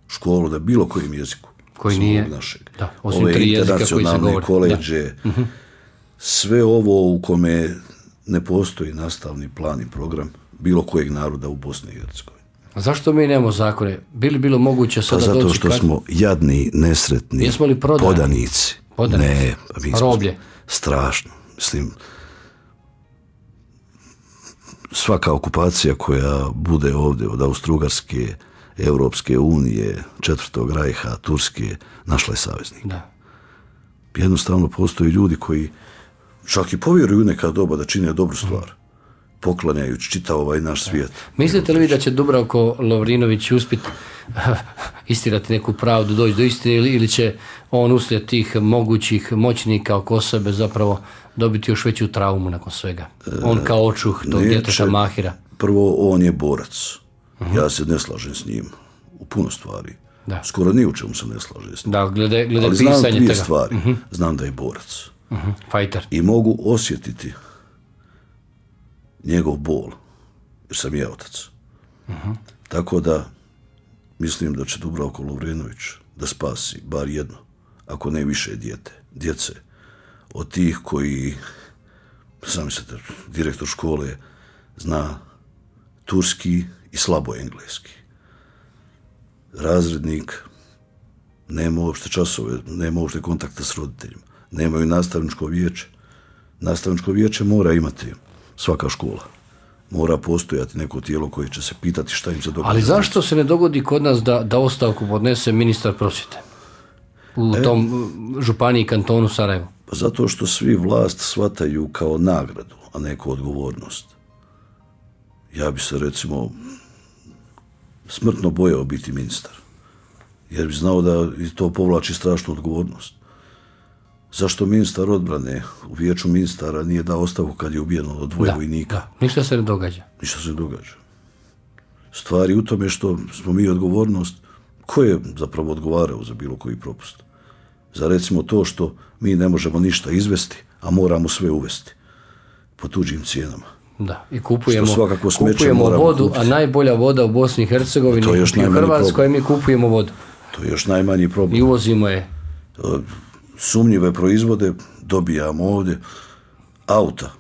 školu na bilo kojem jeziku. Koji nije, našeg. Da, osim ove tri jezika koji se govori. Koleđe, uh-huh. sve ovo u kome ne postoji nastavni plan i program bilo kojeg naroda u Bosni i Hercegovini. A zašto mi nemamo zakone? Bili bilo moguće sada pa doći... zato što kad... smo jadni, nesretni, podanici. Podanici. Ne, pa mi roblje. Strašno. Mislim, svaka okupacija koja bude ovdje od Austro-Ugarske, Europske unije, Četvrtog rajha, Turske, našla je saveznika. Da. Jednostavno postoje ljudi koji čak i povjeruju neka doba da čine dobru stvar, poklanjajući čitav ovaj naš svijet. Mislite li vi da će Dubravko Lovrinović uspjeti istirati neku pravdu, doći do istine, ili, ili će on uslijed tih mogućih moćnika oko sebe zapravo dobiti još veću traumu nakon svega? On kao očuh tog djeteta Mahira. Prvo, on je borac. Uh-huh. Ja se ne slažem s njim u puno stvari. Da. Skoro ni u čemu se ne slažem s njim. Da, glede, glede ali pisanje znam dvije tega. stvari. Uh-huh. Znam da je borac. Uh-huh. Fighter. I mogu osjetiti njegov bol, jer sam ja otac. Uh-huh. Tako da mislim da će Dubravko Lovrinović da spasi bar jedno, ako ne više dijete, djece, od tih koji, sami se direktor škole zna turski i slabo engleski. Razrednik nema uopšte časove, nema uopšte kontakta s roditeljima, nemaju nastavničko vijeće. Nastavničko vijeće mora imati svaka škola. Mora postojati neko tijelo koje će se pitati šta im se događa. Ali zašto se ne dogodi kod nas da, da ostavku podnese ministar prosvjete u e, tom županiji kantonu Sarajevo? Pa zato što svi vlast shvataju kao nagradu, a ne kao odgovornost. Ja bi se recimo smrtno bojao biti ministar, jer bi znao da to povlači strašnu odgovornost. Zašto ministar odbrane u vijeću ministara nije dao ostavku kad je ubijeno od dvoje vojnika? Da, ništa se ne događa. Ništa se ne događa. Stvari u tome što smo mi odgovornost, ko je zapravo odgovarao za bilo koji propust? Za recimo to što mi ne možemo ništa izvesti, a moramo sve uvesti po tuđim cijenama. Da, i kupujemo, kupujemo vodu, kupiti. A najbolja voda u Bosni i Hercegovini i u Hrvatskoj mi kupujemo vodu. To je još najmanji problem. I uvozimo je. Sumnjive proizvode dobijamo ovdje, auta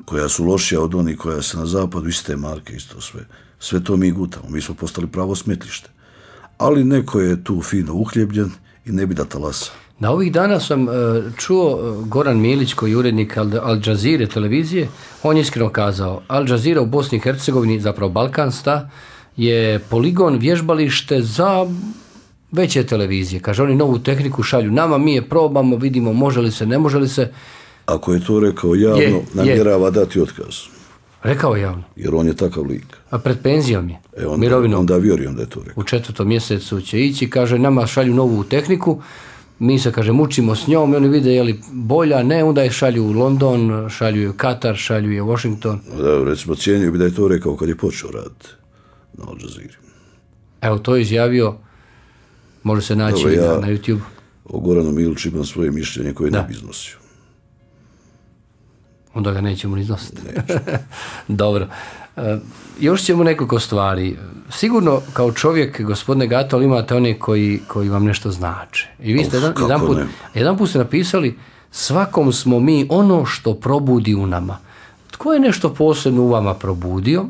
koja su lošija od onih koja se na zapadu, iste marke, isto sve. Sve to mi gutamo, mi smo postali pravo smetlište. Ali neko je tu fino uhljebljen i ne bi da talasa. Na ovih dana sam čuo Goran Milić, koji je urednik Al Jazeere televizije, on je iskreno kazao, Al Jazeera u Bosni i Hercegovini, zapravo Balkansta, je poligon, vježbalište za veće televizije. Kaže, oni novu tehniku šalju nama, mi je probamo, vidimo može li se, ne može li se. Ako je to rekao javno, je, namjerava je. dati otkaz. Rekao je javno. Jer on je takav lik. A pred penzijom je, e onda, mirovinom. Onda vjerujem da je to rekao. U četvrtom mjesecu će ići, kaže, nama šalju novu tehniku, mi se, kaže, mučimo s njom i oni vide je li bolja, ne, onda je šalju u London, šalju je u Katar, šalju je u Washington. Da, recimo, cijenio bi da je to rekao kad je počeo raditi na Al Jazeera. Evo, to je izjavio, može se naći Dobre, ja na, na YouTube. O Goranu Miliću imam svoje mišljenje koje da. ne bi iznosio. Onda ga nećemo iznositi. Dobro. E, još ćemo nekoliko stvari. Sigurno kao čovjek, gospodine Gatol, imate one koji, koji vam nešto znače. I vi ste jedan, jedan, put, jedan put ste napisali, svakom smo mi ono što probudi u nama. Tko je nešto posebno u vama probudio?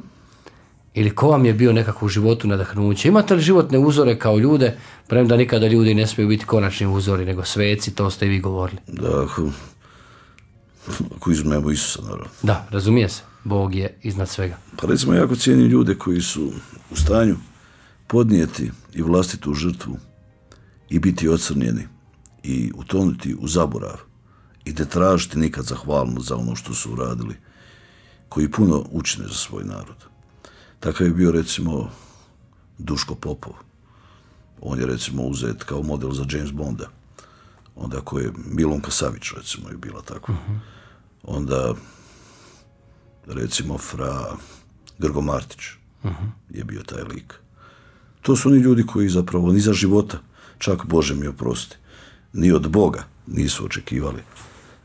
Ili ko vam je bio nekako u životu nadahnuće? Imate li životne uzore kao ljude, premda nikada ljudi ne smiju biti konačni uzori, nego sveci, to ste i vi govorili. Da, ako, ako izmemo Isusa, naravno. Da, razumije se. Bog je iznad svega. Pa recimo, jako cijenim ljude koji su u stanju podnijeti i vlastitu žrtvu i biti ocrnjeni i utonuti u zaborav i ne tražiti nikad zahvalnost za ono što su uradili, koji puno učine za svoj narod. Takav je bio recimo Duško Popov. On je recimo uzet kao model za James Bonda. Onda ko je Milunka Savić recimo je bila tako. Uh-huh. Onda recimo fra Grgo Martić. je bio taj lik. To su oni ljudi koji zapravo ni za života, čak Bože mi oprosti, ni od Boga nisu očekivali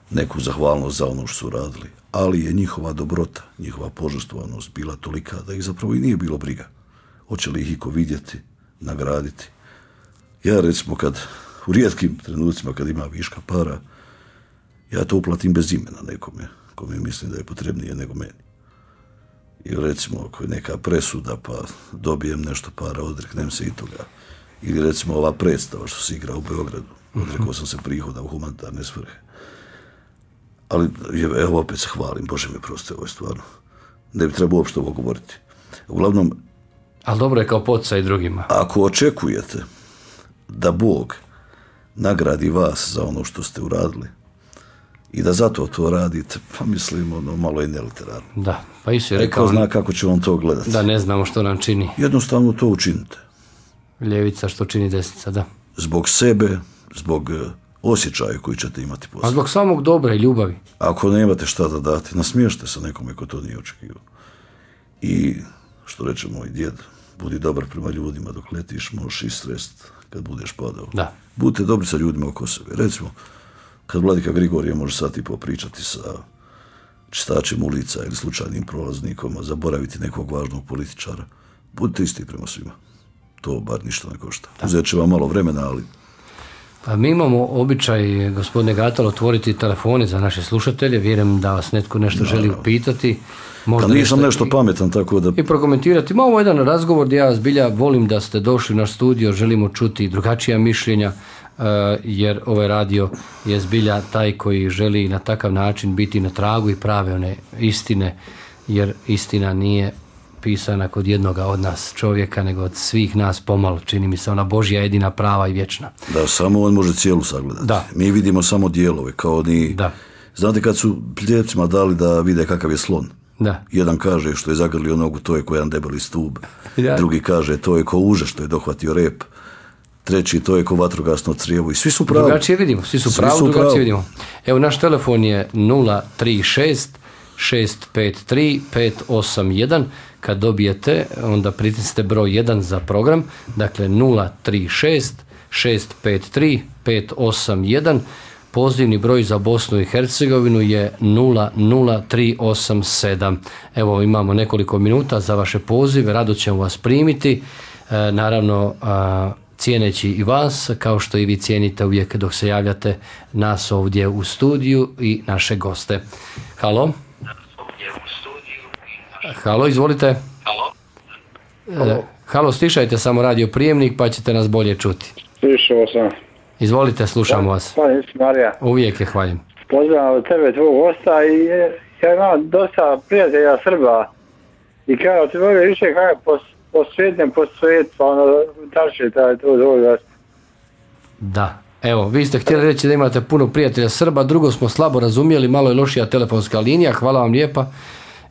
neku zahvalnost za ono što su radili, ali je njihova dobrota, njihova požrtvovanost bila tolika da ih zapravo i nije bilo briga. Hoće li ih iko vidjeti, nagraditi. Ja recimo kad, u rijetkim trenucima kad ima viška para, ja to uplatim bez imena nekome, kome mislim da je potrebnije nego meni. Ili recimo ako je neka presuda pa dobijem nešto para, odreknem se i toga. Ili recimo ova predstava što se igra u Beogradu, odrekao sam se prihoda u humanitarne svrhe. Ali evo opet se hvalim, Bože mi prosti, ovo je stvarno. Ne bi trebao uopšte ovo govoriti. Uglavnom, ali dobro je kao poticaj drugima. Ako očekujete da Bog nagradi vas za ono što ste uradili i da zato to radite, pa mislim, ono, malo je neliterarno. Da, pa Isus je rekao... Ko zna kako će vam to gledati. Da ne znamo što nam čini. Jednostavno to učinite. Ljevica što čini desnica, da. Zbog sebe, zbog osjećaja koji ćete imati poslije. A zbog samog dobra i ljubavi. Ako nemate šta da dati, nasmiješite se nekome ko to nije očekivao. I, što reče moj djed, budi dobar prema ljudima dok letiš, možeš i strest kad budeš padao. Da. Budite dobri sa ljudima oko sebe. Recimo, kad vladika Grigorije može sat i po pričati sa čistačem ulica ili slučajnim prolaznikom, a zaboraviti nekog važnog političara, budite isti prema svima. To bar ništa ne košta. Uzet će vam malo vremena, ali... Pa mi imamo običaj, gospodine Gatalo, otvoriti telefone za naše slušatelje. Vjerujem da vas netko nešto želi upitati. Možda pa nisam nešto pametan, tako da... I prokomentirati. Ma ovo je jedan razgovor gdje ja zbilja volim da ste došli u naš studio, želimo čuti drugačija mišljenja, jer ovaj radio je zbilja taj koji želi na takav način biti na tragu i prave one istine, jer istina nije pisana kod jednoga od nas čovjeka, nego od svih nas pomalo, čini mi se, ona Božja jedina prava i vječna. Da, samo on može cijelu sagledati. Da. Mi vidimo samo dijelove, kao ni... Da. Znate kad su pljevcima dali da vide kakav je slon? Da. Jedan kaže što je zagrlio nogu, to je ko jedan debeli stub. Ja. Drugi kaže to je ko uže što je dohvatio rep. Treći to je ko vatrogasno crijevo. I svi su pravi. Drugačije vidimo, svi su pravi, drugačije pravi. Vidimo. Evo, naš telefon je nula tri šest šest pet tri pet osam jedan. Kad dobijete, onda pritisnite broj jedan za program. Dakle, nula tri šest šest pet tri pet osam jedan. Pozivni broj za Bosnu i Hercegovinu je nula nula tri osam sedam. Evo, imamo nekoliko minuta za vaše pozive, rado ćemo vas primiti. E, naravno, a, cijeneći i vas, kao što i vi cijenite uvijek dok se javljate nas ovdje u studiju i naše goste. Halo? Halo, izvolite. Halo? E, halo, stišajte samo radio prijemnik pa ćete nas bolje čuti. Slišao sam. Izvolite, slušamo vas. Hvala, Marija. Uvijek je hvalim. Pozdravam od tebe, tvojeg gosta, i ja imam dosta prijatelja Srba i kao ti voli više kako po, po svijetem, po svijet, pa ono, tače taj tvoj gost. Da, evo, vi ste htjeli reći da imate puno prijatelja Srba, drugo smo slabo razumjeli, malo je lošija telefonska linija, hvala vam lijepa.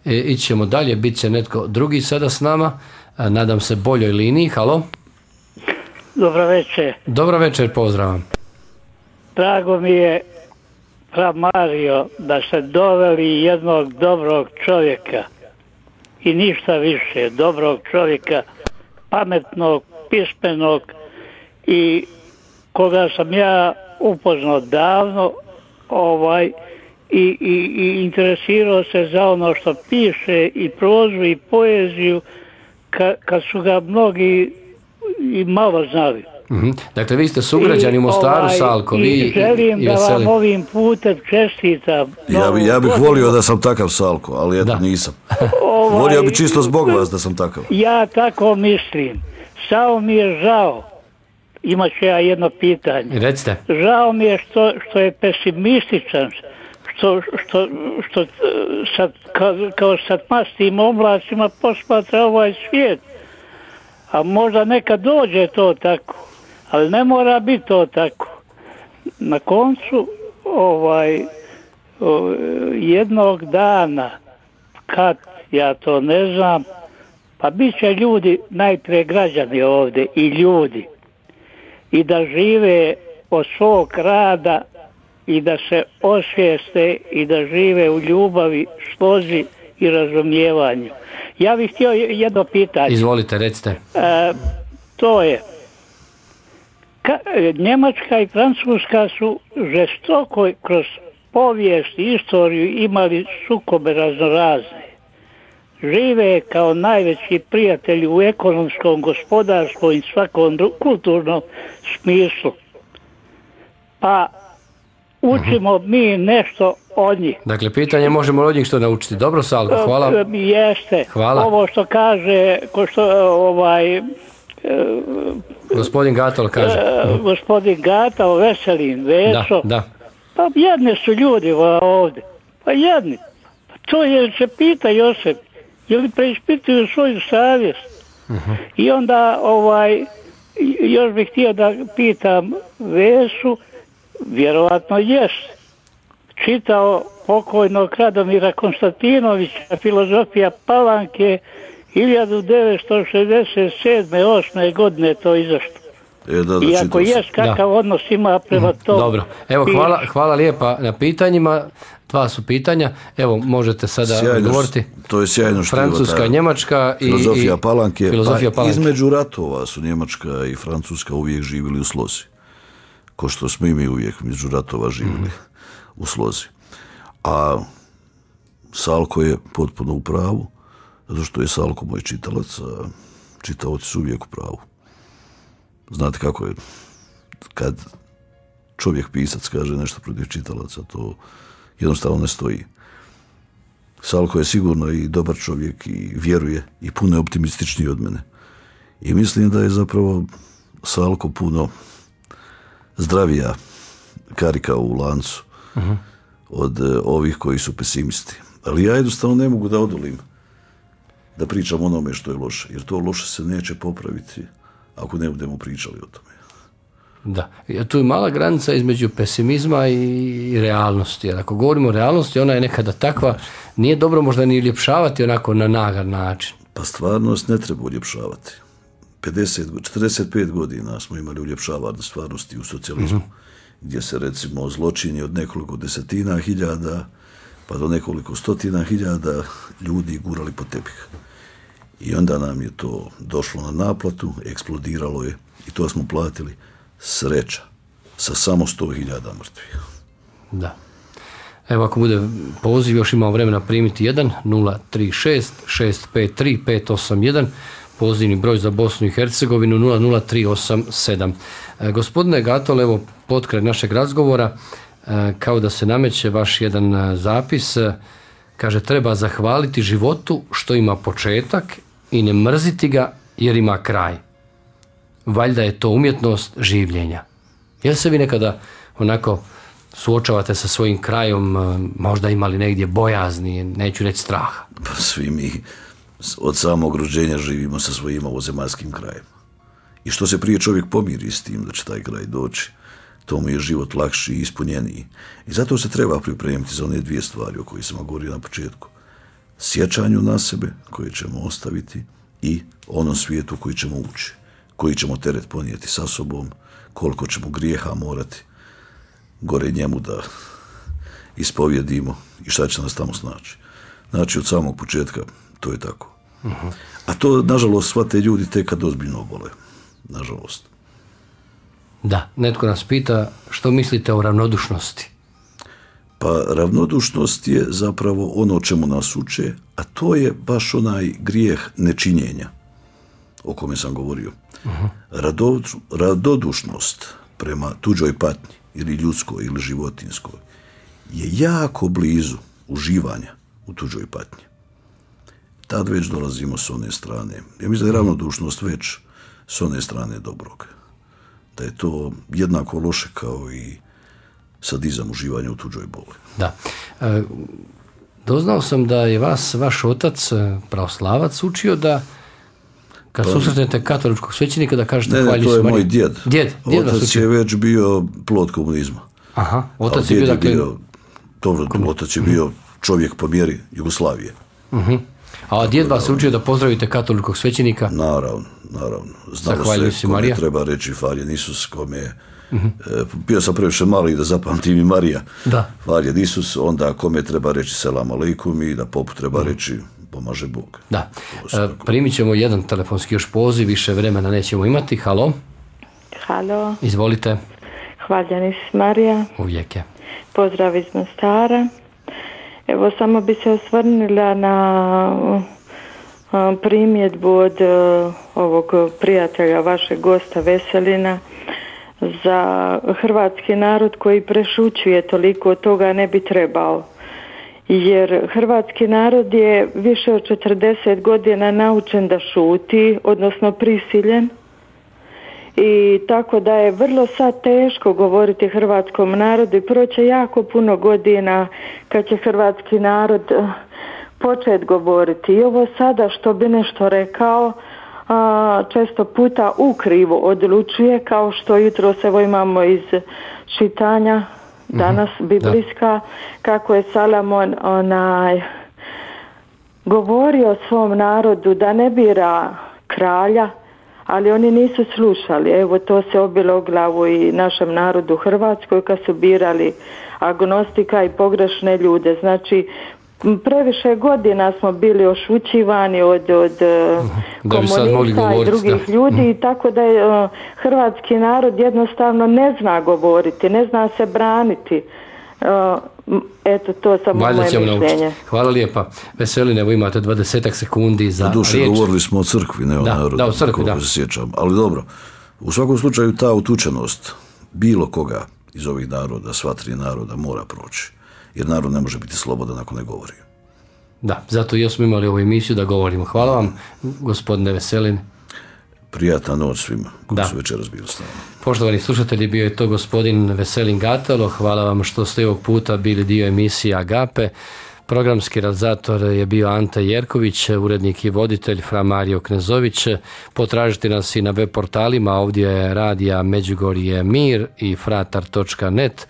E, ići ćemo dalje, bit će netko drugi sada s nama, e, nadam se boljoj liniji. Halo? Dobro večer. Dobro večer, pozdravam. Drago mi je, fra Mario, da ste doveli jednog dobrog čovjeka i ništa više, dobrog čovjeka, pametnog, pismenog i koga sam ja upoznao davno, ovaj, i, i, i interesirao se za ono što piše i prozu i poeziju, ka, kad su ga mnogi i malo znali. Mm-hmm. Dakle, vi ste sugrađani u Mostaru, ovaj, Salko. Vi, i želim i, i da vam ovim putem čestitam. Ja, bi, ja bih volio da sam takav, Salko, ali eto nisam. Ovaj, volio bi čisto zbog vas da sam takav. Ja tako mislim. Samo mi je žao. Imat ću ja jedno pitanje. Recite. Žao mi je što, što je pesimističan, što, što, što sad, kao, kao sad mastim oblasima posmatra ovaj svijet. A možda nekad dođe to tako, ali ne mora biti to tako. Na koncu ovaj jednog dana, kad ja to ne znam, pa bit će ljudi, najprije građani ovdje i ljudi, i da žive od svog rada i da se osvijeste i da žive u ljubavi, slozi i razumijevanju. Ja bih htio jedno pitanje. Izvolite, recite. E, to je, ka, Njemačka i Francuska su žestoko kroz povijest i istoriju imali sukobe raznorazne. Žive kao najveći prijatelji u ekonomskom, gospodarskom i svakom kulturnom smislu. Pa učimo mi nešto od njih. Dakle, pitanje možemo od njih što naučiti. Dobro, Salko, hvala. Jeste. Hvala. Ovo što kaže, ko što ovaj... Gospodin Gatol kaže. Gospodin Gatol, Veselin, Veso. Da, da. Pa jedni su ljudi ovdje. Pa jedni. Pa to je, se pita Josip, je li preispituju svoju savjest? Uh-huh. I onda, ovaj, još bih htio da pitam Vesu, vjerovatno jest, čitao pokojnog Radomira Konstantinovića, Filozofija Palanke, hiljadu devetsto šezdeset sedme osme godine to izašlo. E, da, da, iako jest kakav da. odnos ima prema tomu. Dobro, evo hvala, hvala lijepa na pitanjima, dva su pitanja, evo možete sada sjajno, govoriti. To je sjajno što Francuska, Njemačka i filozofija Palanke, filozofija pa Palanke. Između ratova su Njemačka i Francuska uvijek živjeli u slozi, ko što smo i mi uvijek među ratova živjeli mm-hmm. u slozi. A Salko je potpuno u pravu, zato što je Salko moj čitalac, a čitaoci su uvijek u pravu. Znate kako je, kad čovjek pisac kaže nešto protiv čitalaca, to jednostavno ne stoji. Salko je sigurno i dobar čovjek i vjeruje i puno je optimističniji od mene. I mislim da je zapravo Salko puno zdravija karika u lancu uh-huh. od uh, ovih koji su pesimisti. Ali ja jednostavno ne mogu da odolim da pričam onome što je loše, jer to loše se neće popraviti ako ne budemo pričali o tome. Da, tu je mala granica između pesimizma i realnosti, jer ako govorimo o realnosti, ona je nekada takva, nije dobro možda ni uljepšavati onako na nagar način. Pa stvarnost ne treba uljepšavati. pedeset, četrdeset pet godina smo imali uljepšavanje stvarnosti u socijalizmu, mm-hmm. gdje se recimo zločini od nekoliko desetina hiljada pa do nekoliko stotina hiljada ljudi gurali po tepih. I onda nam je to došlo na naplatu, eksplodiralo je i to smo platili. Sreća sa samo sto hiljada mrtvih. Da. Evo ako bude poziv, još imamo vremena primiti jedan nula tri šest šest pet tri pet osam jedan, pozivni broj za Bosnu i Hercegovinu nula nula tri osam sedam. E, gospodine Gatol, evo potkraj našeg razgovora, e, kao da se nameće vaš jedan zapis, e, kaže treba zahvaliti životu što ima početak i ne mrziti ga jer ima kraj. Valjda je to umjetnost življenja. Jel se vi nekada onako suočavate sa svojim krajom, možda imali negdje bojazni, neću reći straha? Pa svi mi od samog rođenja živimo sa svojim ovozemaljskim krajem. I što se prije čovjek pomiri s tim da će taj kraj doći, to mu je život lakši i ispunjeniji. I zato se treba pripremiti za one dvije stvari o kojih sam govorio na početku. Sjećanju na sebe koje ćemo ostaviti i onom svijetu koji ćemo ući, koji ćemo teret ponijeti sa sobom, koliko ćemo grijeha morati gore njemu da ispovjedimo i šta će nas tamo snaći. Znači, od samog početka to je tako. Uh-huh. A to, nažalost, shvate ljudi tek kad ozbiljno obole. Nažalost. Da, netko nas pita što mislite o ravnodušnosti? Pa ravnodušnost je zapravo ono o čemu nas uče, a to je baš onaj grijeh nečinjenja o kome sam govorio. Uh-huh. Rado, radodušnost prema tuđoj patnji ili ljudskoj ili životinskoj je jako blizu uživanja u tuđoj patnji. Tad već dolazimo s one strane. Ja mislim da je ravnodušnost već s one strane dobrog. Da je to jednako loše kao i sadizam uživanja u tuđoj boli. Da. E, doznao sam da je vas, vaš otac, pravoslavac, učio da kad pa, susretnete katoličkog svećenika da kažete ne, hvalju ne, to je moj djed. Djed, djed otac je već bio plod komunizma. Aha, otac je bio, dakle... bio, dobro, otac je bio čovjek po mjeri Jugoslavije. Uh-huh. A djed vas učio da pozdravite katoličkog svećenika? Naravno, naravno. Znalo se kome treba reći Faljen Isus, kome Mm-hmm. Bio sam previše mali da zapamtim i Marija. Da. Hvaljen Isus, onda kome treba reći selam aleikum i da popu treba reći pomaže Bog. Da. E, primit ćemo jedan telefonski još poziv, više vremena nećemo imati. Halo? Halo. Izvolite. Hvaljen Isus Marija. Uvijek je. Pozdrav iz Mostara. Evo, samo bi se osvrnila na primjedbu od ovog prijatelja, vašeg gosta Veselina, za hrvatski narod koji prešućuje toliko toga ne bi trebao. Jer hrvatski narod je više od četrdeset godina naučen da šuti, odnosno prisiljen. I tako da je vrlo sad teško govoriti hrvatskom narodu i proće jako puno godina kad će hrvatski narod početi govoriti. I ovo sada što bi nešto rekao, a, često puta ukrivo odlučuje, kao što jutro evo imamo iz čitanja danas biblijska, kako je Salomon onaj govorio svom narodu da ne bira kralja, ali oni nisu slušali. Evo, to se obilo u glavu i našem narodu u Hrvatskoj kad su birali agnostika i pogrešne ljude. Znači, previše godina smo bili ošućivani od, od komunista i drugih da. ljudi i tako da je uh, hrvatski narod jednostavno ne zna govoriti, ne zna se braniti. Uh, eto, to samo moje mišljenje. Hvala lijepa. Veselin, evo imate dvadesetak sekundi za riječ. Duše, govorili smo o crkvi, ne o da, narodu. Da, o crkvi, da. Se sjećam. Ali dobro, u svakom slučaju ta utučenost bilo koga iz ovih naroda, sva tri naroda, mora proći. Jer narod ne može biti slobodan ako ne govori. Da, zato i smo imali ovu emisiju da govorimo. Hvala vam, gospodine Veselin. Prijatna noć svima koji su večeras bili s nama. Poštovani slušatelji, bio je to gospodin Veselin Gatalo. Hvala vam što ste ovog puta bili dio emisije Agape. Programski realizator je bio Ante Jerković, urednik i voditelj Fra Mario Knezović. Potražite nas i na web portalima, ovdje je radija Međugorje Mir i fratar točka net.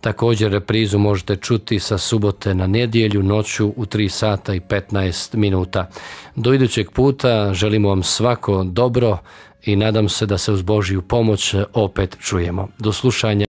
Također reprizu možete čuti sa subote na nedjelju noću u tri sata i petnaest minuta. Do idućeg puta želimo vam svako dobro i nadam se da se uz Božju pomoć opet čujemo. Do slušanja.